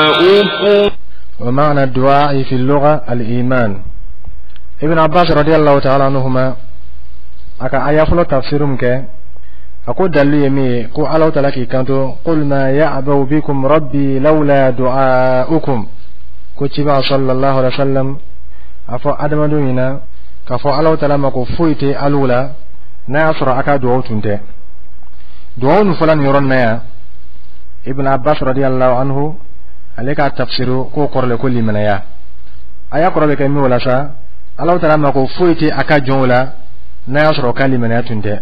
Speaker 4: دعاؤكم.
Speaker 2: ومعنى الدعاء في اللغة الإيمان. ابن عباس رضي الله تعالى عنهما aka aya fɔlɔ tafsiru min kɛ, a ko dalilu ye min ye, ko Alahu taala k'i kanto qul ma ya'ba'u bikum rabbi lawla du'a'ukum, ko ciba sallallahu alaihi wasallam a fɔ adamadenw ɲɛna k'a fɔ Alahu taala ma ko foyi tɛ alu la. N'a y'a sɔrɔ a ka duwawu tun tɛ, duwawu nin fɔla nin yɔrɔ nin na yan, Ibn Abbas radiyallahu anhu, ale k'a tafsiru k'o kɔrɔ le ko limanaya. Aya kɔrɔ bɛ kɛ min o la sa, Alahu Taala ma ko foyi tɛ a ka jɔnw la n'a y'a sɔrɔ ka limanaya tun tɛ.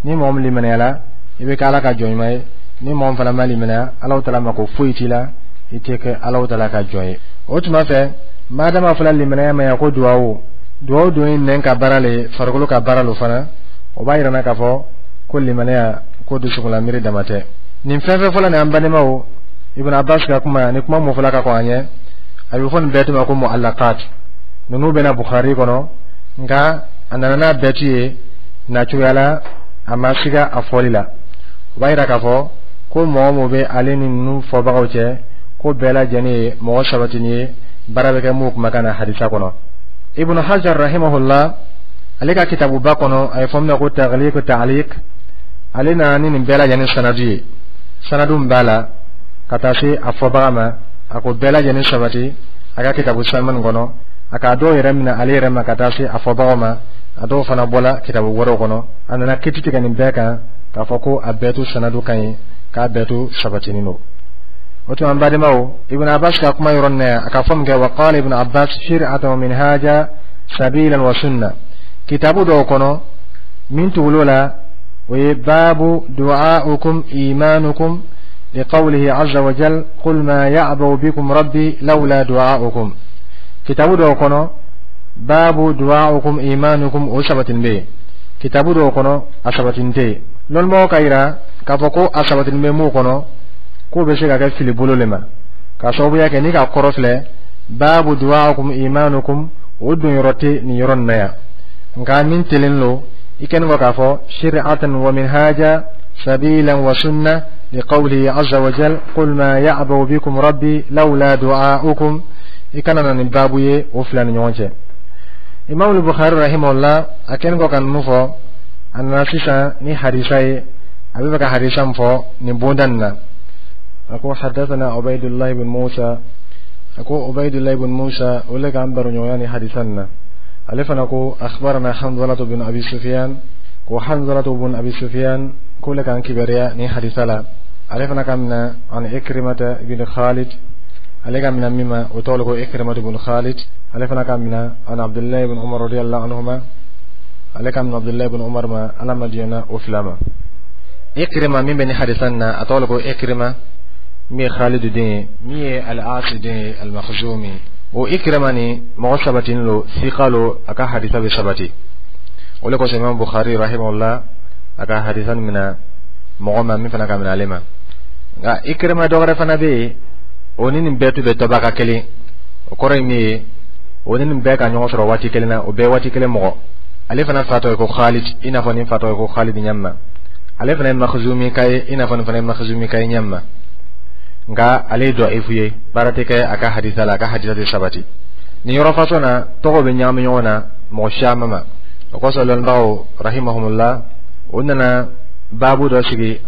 Speaker 2: Ni mɔgɔ min limanayala, i bɛ kɛ Ala ka jɔn ɲuman ye. Ni mɔgɔ min fana ma limanaya, Alahu Taala ma ko foyi t'i la, i tɛ kɛ Alahu Taala ka jɔn ye. O tuma fɛ, madama fɔla limanaya ma yan ko duwawu, duwawu dun ye nɛn ka baara le, farikolo ka baara lo fana, o b'a yira n na k'a fɔ ko limanaya ko dusukunlamiiri dama tɛ. Nin fɛn fɛn fɔla nin, an badenmaw, Ibn Abbas ka kuma ni kuma mun fɔla ka kɔn an ɲɛ, a bɛ fɔ nin bɛɛ tuma ko mu'allaqat. Ninnu bɛna Bukhari kɔnɔ, nka a nana n'a bɛɛ tu ye na cogoya la, a ma siga a fɔli la. O b'a yira k'a fɔ ko mɔgɔ mun bɛ ale ni ninnu fɔbagaw cɛ, ko bɛɛ lajɛlen ye mɔgɔ sabatini ye, baara bɛ kɛ mun kumakan na hadisa kɔnɔ. Ibn Hajar rahimahullah, ale ka kitabuba kɔnɔ, a ye fɔ min ma ko Taghliq Ta'liq, ale nana ni nin bɛɛ lajɛlen sanadu ye, sanadu min b'a la ka taa se a fɔbaga ma. A ko bɛɛ lajɛlen sabati a ka kitabu sanuman nin kɔnɔ. A k'a dɔw yɛrɛ minɛ ale yɛrɛ ma ka taa se a fɔbagaw ma, a dɔw fana bɔla kitabu wɛrɛw kɔnɔ. A nana kiti tigɛ nin bɛɛ kan k'a fɔ ko a bɛɛ to sanadu ka ɲi, k'a bɛɛ to sabatinin don. O tuma, an badenmaw, Ibn Abbas ka kuma yɔrɔ nin na yan, a ka fɔ min kɛ, wa qala Ibn Abbas shir'atan wa minhaja sabilan wa sunna, kitabu dɔw kɔnɔ min tugul'o la, o ye baabu du'a'ukum imanukum liqawlihi azza wa jal qul ma ya'ba'u bikum rabbi lawla du'a'ukum. Kitabu dɔw kɔnɔ, baabu du'a'ukum imanukum, o sabatin bɛ yen. Kitabu dɔw kɔnɔ, a sabatin tɛ yen. Lɔnnibagaw ka yira k'a fɔ ko a sabatin bɛ mun kɔnɔ, k'o bɛ se ka kɛ fili bolo le ma, k'a sababuya kɛ n'i ka kɔrɔ filɛ, baabu du'a'ukum imanukum, o don yɔrɔ tɛ nin yɔrɔ nin na yan. Nka min telen lo, i kɛlen kɔ k'a fɔ shir'atan wa minhaja sabilan wa sunna liqawlihi azza wa jal qul ma ya'ba'u bikum rabbi lawla du'a'ukum, i kana na nin baabu ye o fila ni ɲɔgɔn cɛ. Imam Bukhari rahimahullah, a kɛlen kɔ ka ninnu fɔ, a nana sisan ni hadisa ye. A bɛ fɛ ka hadisa min fɔ nin bonda nin na, a ko hadathana Ubaydullah ibn Musa. A ko Ubaydullah ibn Musa, o le k'an baroɲɔgɔnya ni hadisa nin na. Ale fana ko akhbarana Hanzalatu bin Abi Sufyan, ko Hanzalatu bin Abi Sufyan ko le k'an kibaruya ni hadisa la. Ale fana ka mina an Ikrimata ibn Khalid, ale ka mina min ma, o tɔgɔ ko Ikrimatu ibn Khalid. Ale fana ka mina an Abdullahi ibn Umar radiyallahu anhuma, ale ka mina Abdullahi ibn Umar ma, Ala ma diɲɛna o fila ma. Ikrima min bɛ ni hadisa nin na, a tɔgɔ ko Ikrima, min ye Khalid den ye, min ye Al-As den ye, Al-Makhzumi. O Ikrima ni mɔgɔ sabatinin lo, sika lo, a ka hadisa bɛ sabati. O le kosɔn Imam Bukhari rahimahullah, a ka hadisa nin mina mɔgɔ ma min fana ka minɛ ale ma. Nka Ikrima dɔ wɛrɛ fana bɛ yen, o ni nin bɛɛ tun bɛ tɔbaka kelen. O kɔrɔ ye min ye, o ni nin bɛɛ ka ɲɔgɔn sɔrɔ waati kelen na, o bɛɛ waati kelen mɔgɔ. Ale fana fa tɔgɔ ye ko Khalid, i n'a fɔ nin fa tɔgɔ ye ko Khalid ɲɛ. Ale fana ye Makhzumi ka ye, i n'a fɔ nin fana ye Makhzumi ka ye ɲɛ ma. Nka ale ye dɔ'ifu ye, baara tɛ kɛ a ka hadisa la, a ka hadisa tɛ sabati. Nin yɔrɔ fasɔn na, tɔgɔw bɛ ɲagami ɲɔgɔn na mɔgɔ caman ma. O kosɔn lɔnnibagaw rahimahumullah, o nana baabu dɔ sigi: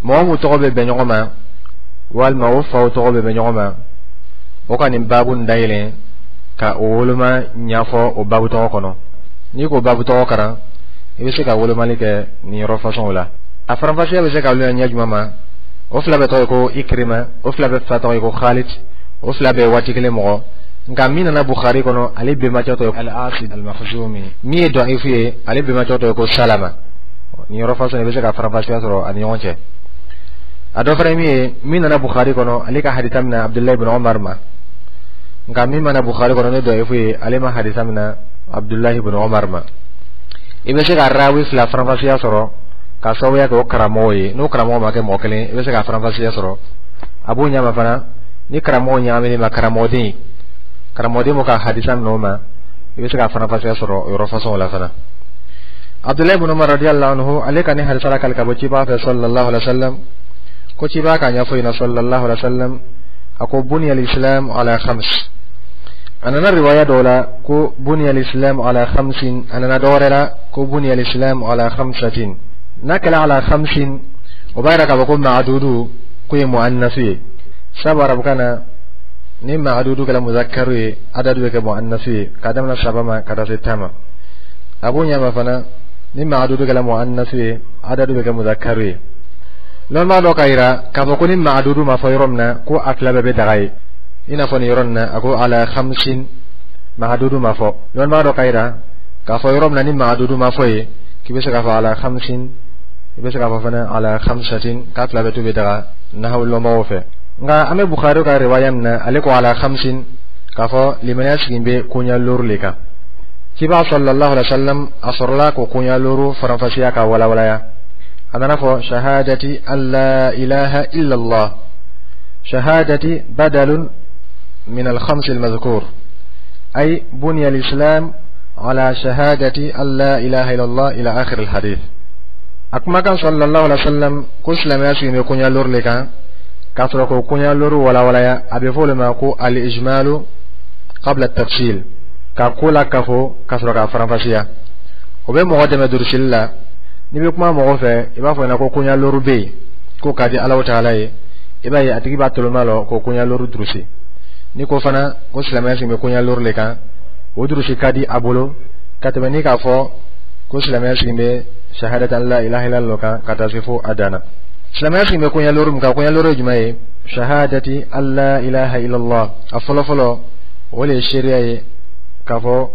Speaker 2: mɔgɔ mun tɔgɔ bɛ bɛn ɲɔgɔn ma, walima o faw tɔgɔ bɛ bɛn ɲɔgɔn ma, o ka nin baabu nin dayɛlɛ ka o woloma ɲɛfɔ o baabu tɔgɔ kɔnɔ. N'i k'o baabu tɔgɔ karan, i bɛ se ka wolomali kɛ nin yɔrɔ fasɔnw la. A faranfasiya bɛ se ka wuli ɲɛ jumɛn ma? O fila bɛɛ tɔgɔ ye ko Ikrima, o fila bɛɛ fa tɔgɔ ye ko Khalid, o fila bɛɛ waati kelen mɔgɔ. Nka min nana Bukhari kɔnɔ, ale bɛnbakɛ tɔgɔ ye Al-As Al-Makhzumi. Min ye dɔ'ifu ye, ale bɛnbakɛ tɔgɔ ye ko Salama. Nin yɔrɔ fasɔn, i bɛ se ka faranfasiya sɔrɔ a ni ɲɔgɔn cɛ. A dɔ fana ye min ye, min nana Bukhari kɔnɔ, ale ka hadisa minɛ Abdullahi ibn Umar ma. Nka min mana Bukhari kɔnɔ ne dɔ'ifu ye, ale ma hadisa minɛ Abdullahi ibn Umar ma. I bɛ se ka rawi fila faranfasiya sɔrɔ ka sababuya kɛ o karamɔgɔ ye. N'o karamɔgɔ ma kɛ mɔgɔ kelen, i bɛ se ka faranfasiya sɔrɔ. A b'o ɲama fana ni karamɔgɔ ɲagaminen ma karamɔgɔden, karamɔgɔden m'o ka hadisa minɛ o ma, i bɛ se ka faranfasiya sɔrɔ o yɔrɔ fasɔn la fana. Abdullahi ibn Umar radiyallahu anhu, ale ka ni hadisa la kali ka bɔ ciba fɛ sallallahu alaihi wa sallam, ko ciba k'a ɲɛfɔ ɲɛna sallallahu alaihi wa sallam, a ko buniya al-islam ala khams. A nana riwaya dɔw la ko buniya al-islam ala khamsin, a nana dɔ wɛrɛ la ko buniya al-islam ala khamsatin. N'a kɛra ala khamsin, o b'a yira k'a fɔ ko maadudu k'o ye muannasu ye. Sabu arabukan na, ni maadudu kɛra muzakkaru ye, adadu bɛ kɛ muannasu ye, k'a daminɛ saba ma ka taa se 10 ma. A b'o ɲɛma fana. Ni maadudu kɛla muannasu ye, adadu bɛ kɛ muzakkaru ye. Lɔnbaa dɔ ka yira k'a fɔ ko ni maadudu ma fɔ yɔrɔ min na, ko a fila bɛɛ bɛ daga ye. I n'a fɔ nin yɔrɔ nin na, a ko ala khamsin, maadudu ma fɔ. Lɔnbaa dɔ ka yira k'a fɔ yɔrɔ min na ni maadudu ma fɔ ye, k'i bɛ se k'a fɔ ala khamsin, i bɛ se k'a fɔ fana ala khamsatin, k'a fila bɛɛ to bɛ daga nahawu lɔnbagaw fɛ. Nka an bɛ Bukhari ka riwaya min na, ale ko ala khamsin, k'a fɔ limaniya sigin bɛ koɲa looru le kan. Ciba sallallahu alaihi wasallam a sɔrɔla k'o koɲa looru faranfasiya ka walawalaya. A nana fɔ shahadati an la ilaha illallah. Shahadati badalun min al-khams al-madhkur, ay bunya al-islam ala shahadati an la ilaha illallah ila akhir al-hadith. A kumakan sallallahu alaihi wasallam ko silamɛya sigin bɛ koɲa looru le kan, k'a sɔrɔ k'o koɲa looru walawalaya, a bɛ fɔ o le ma ko al-ijmalu qabla at-tafsil, ka ko la kafo ka sɔrɔ k'a faranfasiya. O bɛ mɔgɔ dɛmɛ durusili la. N'i bɛ kuma mɔgɔ fɛ, i b'a fɔ ɲɛna ko koɲa looru bɛ yen k'o ka di Alahu taala ye, i b'a ye a tigi b'a toloma lɔ k'o koɲa looru durusi. N'i ko fana ko silamɛya sigi bɛ koɲa looru le kan, o durusi ka di a bolo ka tɛmɛ n'i k'a fɔ ko silamɛya sigi bɛ shahadatan la ilaha illallah kan ka taa se fo a dan na. Silamɛya sigi bɛ koɲa looru min kan, koɲa looru ye jumɛn ye? Shahadati an la ilaha illallah, a fɔlɔ fɔlɔ, o de ye seereya ye k'a fɔ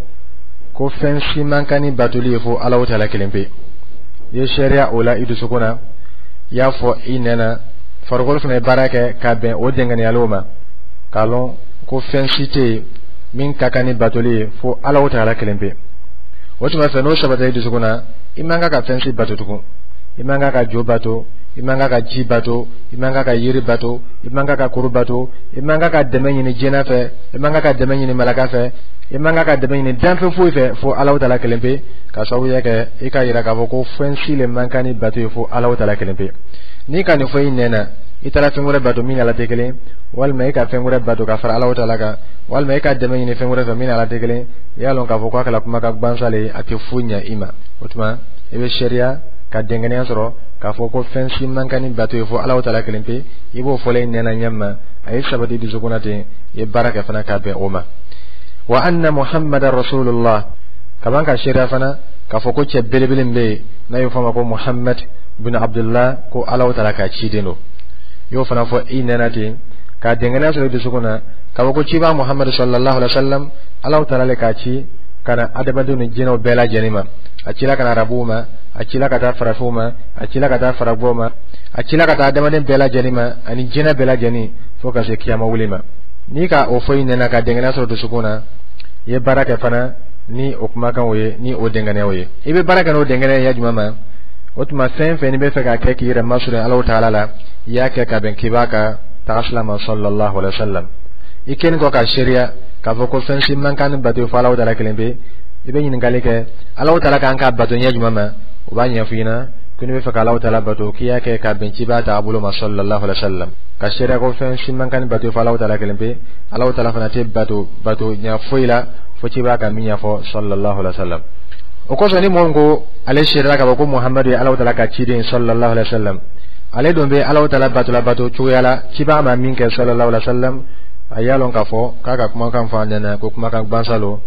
Speaker 2: ko fɛn si man kan ni batoli ye fo Alahu taala kelen pe. I ye seereya o la i dusukun na, i y'a fɔ i nɛn na, farikolo fana ye baara kɛ ka bɛn o dɛngɛniyaliw ma, k'a lɔn ko fɛn si tɛ yen min ka kan ni batoli ye fo Alahu taala kelen pe. O tuma fɛ, n'o sabatila i dusukun na, i man kan ka fɛn si bato tugun. I man kan ka jo bato, i man kan ka ji bato, i man kan ka yiri bato, i man kan ka kuru bato, i man kan ka dɛmɛ ɲini jinɛ fɛ, i man kan ka dɛmɛ ɲini malaka fɛ, i man kan ka dɛmɛ ɲini danfɛn foyi fɛ fo Alahu taala kelen pe, ka sababuya kɛ i ka yira k'a fɔ ko fɛn si le man kan ni bato ye fo Alahu taala kelen pe. N'i ka nin fɔ i nɛn na, i taara fɛn wɛrɛ bato min ni Ala tɛ kelen, walima i ka fɛn wɛrɛ bato ka fara Alahu taala kan, walima i ka dɛmɛ ɲini fɛn wɛrɛ fɛ min ni Ala tɛ kelen, i y'a lɔn k'a fɔ k'a kɛla kumakan gansan le ye, a tɛ foyi ɲɛ i ma. O tuma i bɛ seereya ka dɛngɛnɛya sɔrɔ k'a fɔ ko fɛn si man kan ni bato ye fo Alahu taala kelen pe. I b'o fɔla i nɛn na ɲɛ ma, a ye sabati dusukun na ten, i ye baara kɛ fana ka bɛn o ma. Wa anna muhammadan rasulullah, kaban ka seereya fana k'a fɔ ko cɛ belebele min bɛ yen n'a y'o fɔ a ma ko Muhammad bin Abdullah, ko Alahu taala ka ciden don, i y'o fana fɔ i nɛn na ten, ka dɛngɛnɛya sɔrɔ i dusukun na k'a fɔ ko ciba Muhammad sallallahu alaihi wa sallam, Alahu taala le k'a ci ka na adamadenw ni jinɛw bɛɛ lajɛlen ma. A cila ka na arabuw ma, a cila ka taa farafinw ma, a cila ka taa faragwɛw ma, a cila ka taa adamaden bɛɛ lajɛlen ma ani jinɛ bɛɛ lajɛlen fo ka se kiyama wuli ma. N'i ka o fɔ i nɛn na ka dɛngɛnɛya sɔrɔ dusukun na, i ye baara kɛ fana ni o kumakanw ye, ni o dɛngɛnɛyaw ye. I bɛ baara kɛ n'o dɛngɛnɛya ye jumɛn ma? O tuma fɛn fɛn n'i bɛ fɛ k'a kɛ k'i yɛrɛ masurunya Alahu taala la, i y'a kɛ ka bɛn k'i ka tagasila ma sallallahu alaihi wa sallam. I kɛlen kɔ ka seereya k'a fɔ ko fɛn si man kan ni bato fo Alahu taala kelen pe, i bɛ ɲininkali kɛ Alahu taala kan ka bato ɲɛ jumɛn ma, o b'a ɲɛfɔ i ɲɛna ko n'i bɛ fɛ ka Alahu taala bato, k'i y'a kɛ ka bɛn ciba taabolo ma sallallahu alaihi wa sallam, ka seereya ko fɛn si man kan ni bato fo Alahu taala kelen pe, Alahu taala fana tɛ bato bato ɲɛ foyi la fo ciba ka min ɲɛfɔ sallallahu alaihi wa sallam. O kosɔn, ni mɔgɔ min ko ale seerela k'a fɔ ko Muhamadu ye Alahu taala ka ciden sallallahu alaihi wa sallam, ale dun bɛ Alahu taala bato la bato cogoya la ciba ma min kɛ sallallahu alaihi wa sallam, a y'a lɔn k'a fɔ k'a ka kumakan fɔ a ɲɛna ko kumakan gansan lo,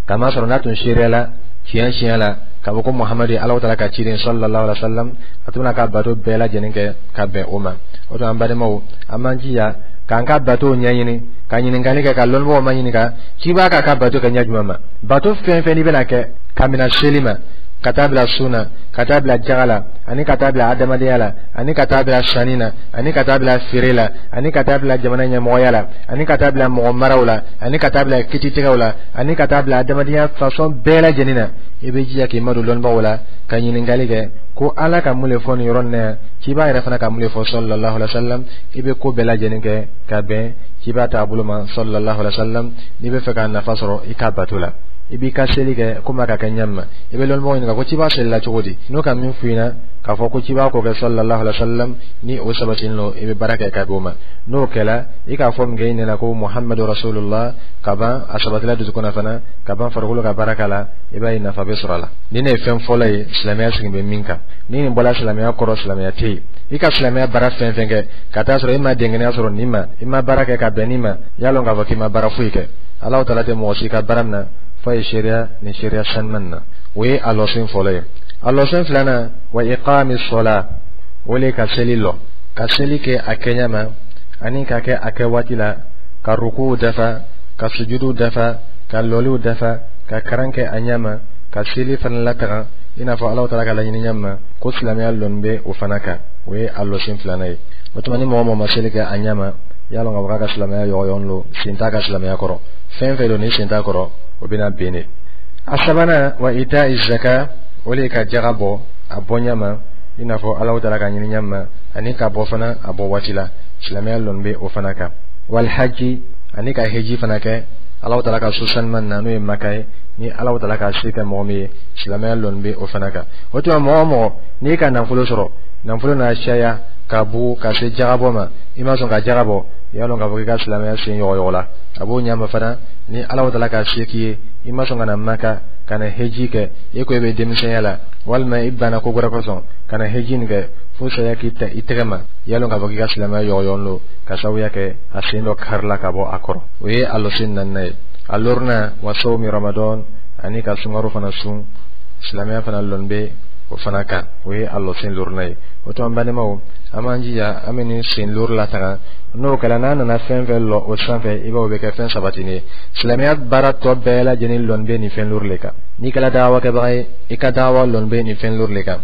Speaker 2: kamasɔrɔ n'a tun seereyala tiɲɛ tiɲɛ la k'a fɔ ko Muhamadu ye Alahu taala ka ciden sallallahu alaihi wa sallam, a tun bɛna ka bato bɛɛ lajɛlen kɛ ka bɛn o ma. O tuma, an balimaw, an b'an jija k'an ka bato ɲɛɲini, ka ɲininkali kɛ, ka lɔnnibagaw ma ɲininka ciba k'a ka bato kɛ ɲɛ jumɛn ma. Bato fɛn fɛn n'i bɛna kɛ, ka mina seli ma ka taa bila sun na, ka taa bila jaga la, ani ka taa bila adamadenya la, ani ka taa bila sanni na, ani ka taa bila feere la, ani ka taa bila jamana ɲɛmɔgɔya la, ani ka taa bila mɔgɔ maraw la, ani ka taa bila kititigɛw la, ani ka taa bila adamadenya façon bɛɛ lajɛlen na, i bɛ jija k'i madon lɔnnibagaw la ka ɲininkali kɛ ko Ala ka mun le fɔ nin yɔrɔ nin na yan, ciba yɛrɛ fana ka mun le fɔ sallallahu alaihi wa sallam. I bɛ ko bɛɛ lajɛlen kɛ ka bɛn ciba taabolo ma sallallahu alaihi wa sallam. N'i bɛ fɛ ka nafa sɔrɔ i ka bato la, i b'i ka seli kɛ komi a ka kɛ ɲɛ ma, i bɛ lɔnnibagaw ɲininka ko ciba selila cogo di. N'o ka min f'i ɲɛna k'a fɔ ko ciba k'o kɛ sallallahu alaihi wa sallam, ni o sabatilen don, i bɛ baara kɛ ka bɛn o ma. N'o kɛla, i k'a fɔ min kɛ i nɛna ko Muhammadu rasulullah, ka ban a sabatila dusukun na fana, ka ban farikolo ka baara k'a la, i b'a ye nafa bɛ sɔrɔ a la. Ni ne ye fɛn fɔlɔ ye silamɛya sigi bɛ min kan, ni nin bɔra silamɛya kɔrɔ, silamɛya tɛ yen. I ka silamɛya baara fɛn fɛn kɛ ka taa sɔrɔ i ma dɛngɛnɛya sɔrɔ nin ma, i ma baara kɛ ka bɛn nin ma, i y'a lɔn k'a fɔ k'i ma baara foyi kɛ. Alahu taala tɛ mɔgɔ si ka baara min na f'a ye seereya nin seereya sanuman na. O ye a lɔsen fɔlɔ ye. A lɔsen filanan, wa iqami sola, o le ka seli lɔ, ka seli kɛ a kɛɲɛ ma ani ka kɛ a kɛ waati la, ka rukuw dafa, ka sujudu dafa, ka lɔliw dafa, ka karan kɛ a ɲɛ ma, ka seli fana lataga i n'a fɔ Alahu taala ka laɲini ɲɛ ma ko silamɛya lɔnni bɛ o fana kan. O ye a lɔsen filanan ye. O tuma, ni mɔgɔ mɔgɔ ma seli kɛ a ɲɛ ma, y'a lɔn k'a fɔ k'a ka silamɛya yɔgɔyɔgɔn lo, sen t'a ka silamɛya kɔrɔ. Fɛn fɛn don ni sen t'a kɔrɔ, o bɛna ben de. A sabanan, wa ita'i zaka, o le ka jaga bɔ a bɔ ɲɛ ma i n'a fɔ Alahu taala ka ɲini ɲɛ ma, ani ka bɔ fana a bɔ waati la. Silamɛya lɔnni bɛ o fana kan. Wal haji, ani ka heji fana kɛ Alahu taala ka so sanuman na, n'o ye Maka ye. Ni Alahu taala ka se kɛ mɔgɔ min ye, silamɛya lɔnni bɛ o fana kan. O tuma, mɔgɔ o mɔgɔ n'i ka nafolo sɔrɔ, nafolo n'a caya ka bugu ka se jagabɔ ma, i ma sɔn ka jaga bɔ, i y'a lɔn k'a fɔ k'i ka silamɛya sen yɔgɔyɔgɔ la. A b'o ɲɛ ma fana, ni Alahu taala ka se k'i ye, i ma sɔn ka na Maka ka na heji kɛ, e ko i bɛ denmisɛnya la walima i banna ko wɛrɛ kosɔn ka na heji nin kɛ fo saya k'i ta i tɛgɛ ma, i y'a lɔn k'a fɔ k'i ka silamɛya yɔgɔyɔgɔ don, ka sababuya kɛ a sen dɔ karila ka bɔ a kɔrɔ. O ye a lɔsen naaninan ye. A lorunan, wa sawmi Ramadan, ani ka sunkaro fana sun, silamɛya fana lɔnni bɛ o fana kan. O ye a lɔsen lorunan ye. O tuma, n balimaw, an b'an jija an bɛ nin sen loru lataga. N'o kɛra, n'a nana fɛn fɛn lɔ o sanfɛ, i b'a o bɛ kɛ fɛn sabatinen ye. Silamɛya baara tɔ bɛɛ lajɛlen lɔnni bɛ nin fɛn loru le kan. N'i kɛra dawakɛbaga ye, i ka dawa lɔnni bɛ nin fɛn loru le kan.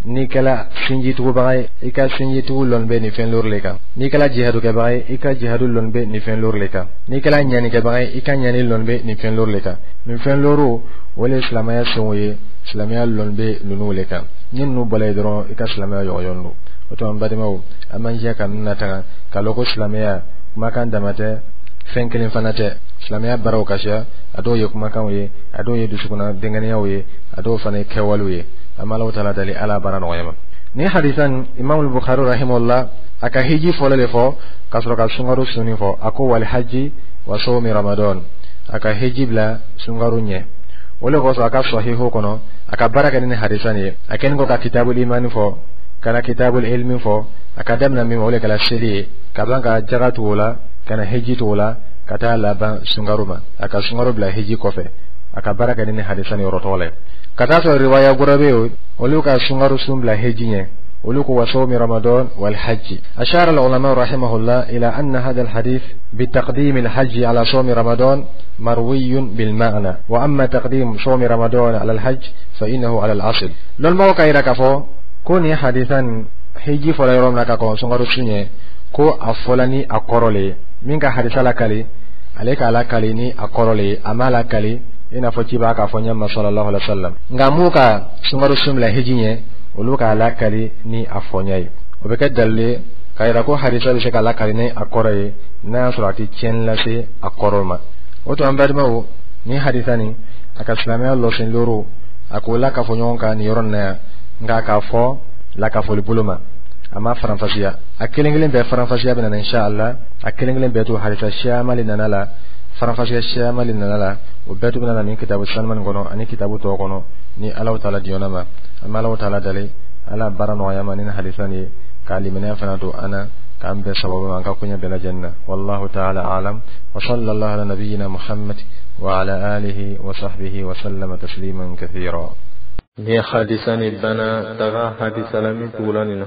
Speaker 2: N'i kɛra sinjitugubaga ye, i ka sinjitugu lɔnni bɛ nin fɛn loru le kan. N'i kɛra jihadukɛbaga ye, i ka jihadu lɔnni bɛ nin fɛn loru le kan. N'i kɛra ɲanikɛbaga ye, i ka ɲani lɔnni bɛ nin fɛn loru le kan. Nin fɛn loru, o le ye silamɛya senw ye. Silamɛya lɔnni bɛ ninnu le kan. Ni ninnu bɔla yen dɔrɔn, i ka silamɛya yɔgɔyɔgɔn don. O tuma, n balimaw, an b'an jija ka ninnu lataga, k'a lɔn ko silamɛya kumakan dama tɛ, fɛn kelen fana tɛ. Silamɛya baaraw ka siya, a dɔw ye kumakanw ye, a dɔw ye dusukunna dɛngɛnɛyaw ye, a dɔw fana ye kɛwalew ye. An b'Alahu taala dali, Ala baara nɔgɔya ma. Ni hadisa nin, Imam Bukhari rahimahullah, a ka hiji fɔlɔ de fɔ ka sɔrɔ ka sunkaro sunni fɔ. A ko wal haji wa sawmi Ramadan. A ka hiji bila sunkaro ɲɛ. O le kosɔn, a ka Sahihu kɔnɔ, a ka baara kɛ ni hadisa nin ye. A kɛlen kɔ ka kitabul imani fɔ, ka na kitabul ilmi fɔ, a ka daminɛ min ma, o le kɛra seli ye, ka ban ka jaga tugu o la, ka na hiji tugu o la, ka taa laban sunkaro ma. A ka sunkaro bila hiji kɔfɛ. A ka baara kɛ ni hadisa nin yɔrɔ tɔgɔ la ye. Ka taa sɔrɔ riwaya wɛrɛ bɛ yen, olu ka sunkaro sun bila hiji ɲɛ. Olu ko wa sawmi Ramadan wal hajj. أشار العلماء رحمه الله إلى أن هذا الحديث بتقديم الحج على صوم رمضان مروي بالمعنى، وأما تقديم صوم رمضان على الحج فإنه على الأصل. Lɔnbagaw ka yira k'a fɔ ko nin hadisa nin, hiji fɔla yɔrɔ min na ka kɔn sunkaro sun ɲɛ, ko a fɔla ni a kɔrɔ le ye. Min ka hadisa lakali, ale k'a lakali ni a kɔrɔ le ye, a m'a lakali i n'a fɔ ciba k'a fɔ ɲɛma sallallahu alaihi wa sallam. Nka mun ka sunkaro sun bila hiji ɲɛ, olu k'a lakali ni a fɔɲɛ ye. O bɛ kɛ dalilu ye k'a yira ko hadisa bɛ se ka lakali ni a kɔrɔ ye, n'a y'a sɔrɔ a tɛ tiɲɛni lase a kɔrɔ ma. O tuma, an balimaw, ni hadisa nin, a ka silamɛya lɔsen loro, a k'o lakafo ɲɔgɔn kan nin yɔrɔ nin na yan, nka k'a fɔ lakafoli bolo ma, a ma faranfasiya. A kelen kelen bɛɛ faranfasiya bɛ na insha Allah. A kelen kelen bɛɛ to hadisa siyaman le nana la, faranfasiya siyaman le nana la. O bɛɛ to bɛna na nin kitabu sanuman kɔnɔ ani kitabu tɔw kɔnɔ, ni Alahu taala diɲɛna ma. An bɛ Alahu taala dali, Ala baara nɔgɔya ma ni hadisa nin ye, k'a limaniya fana don an na, k'an bɛɛ sababu ma an ka koɲɛ bɛɛ lajɛlen na. Wallahu ta'ala a'lam, wa sallallahu ala nabiyyina Muhammad wa ala alihi wa sahbihi wa sallama tasliman kathira.
Speaker 1: Ni hadisa ni bana, taga hadisa la min tugula nin na.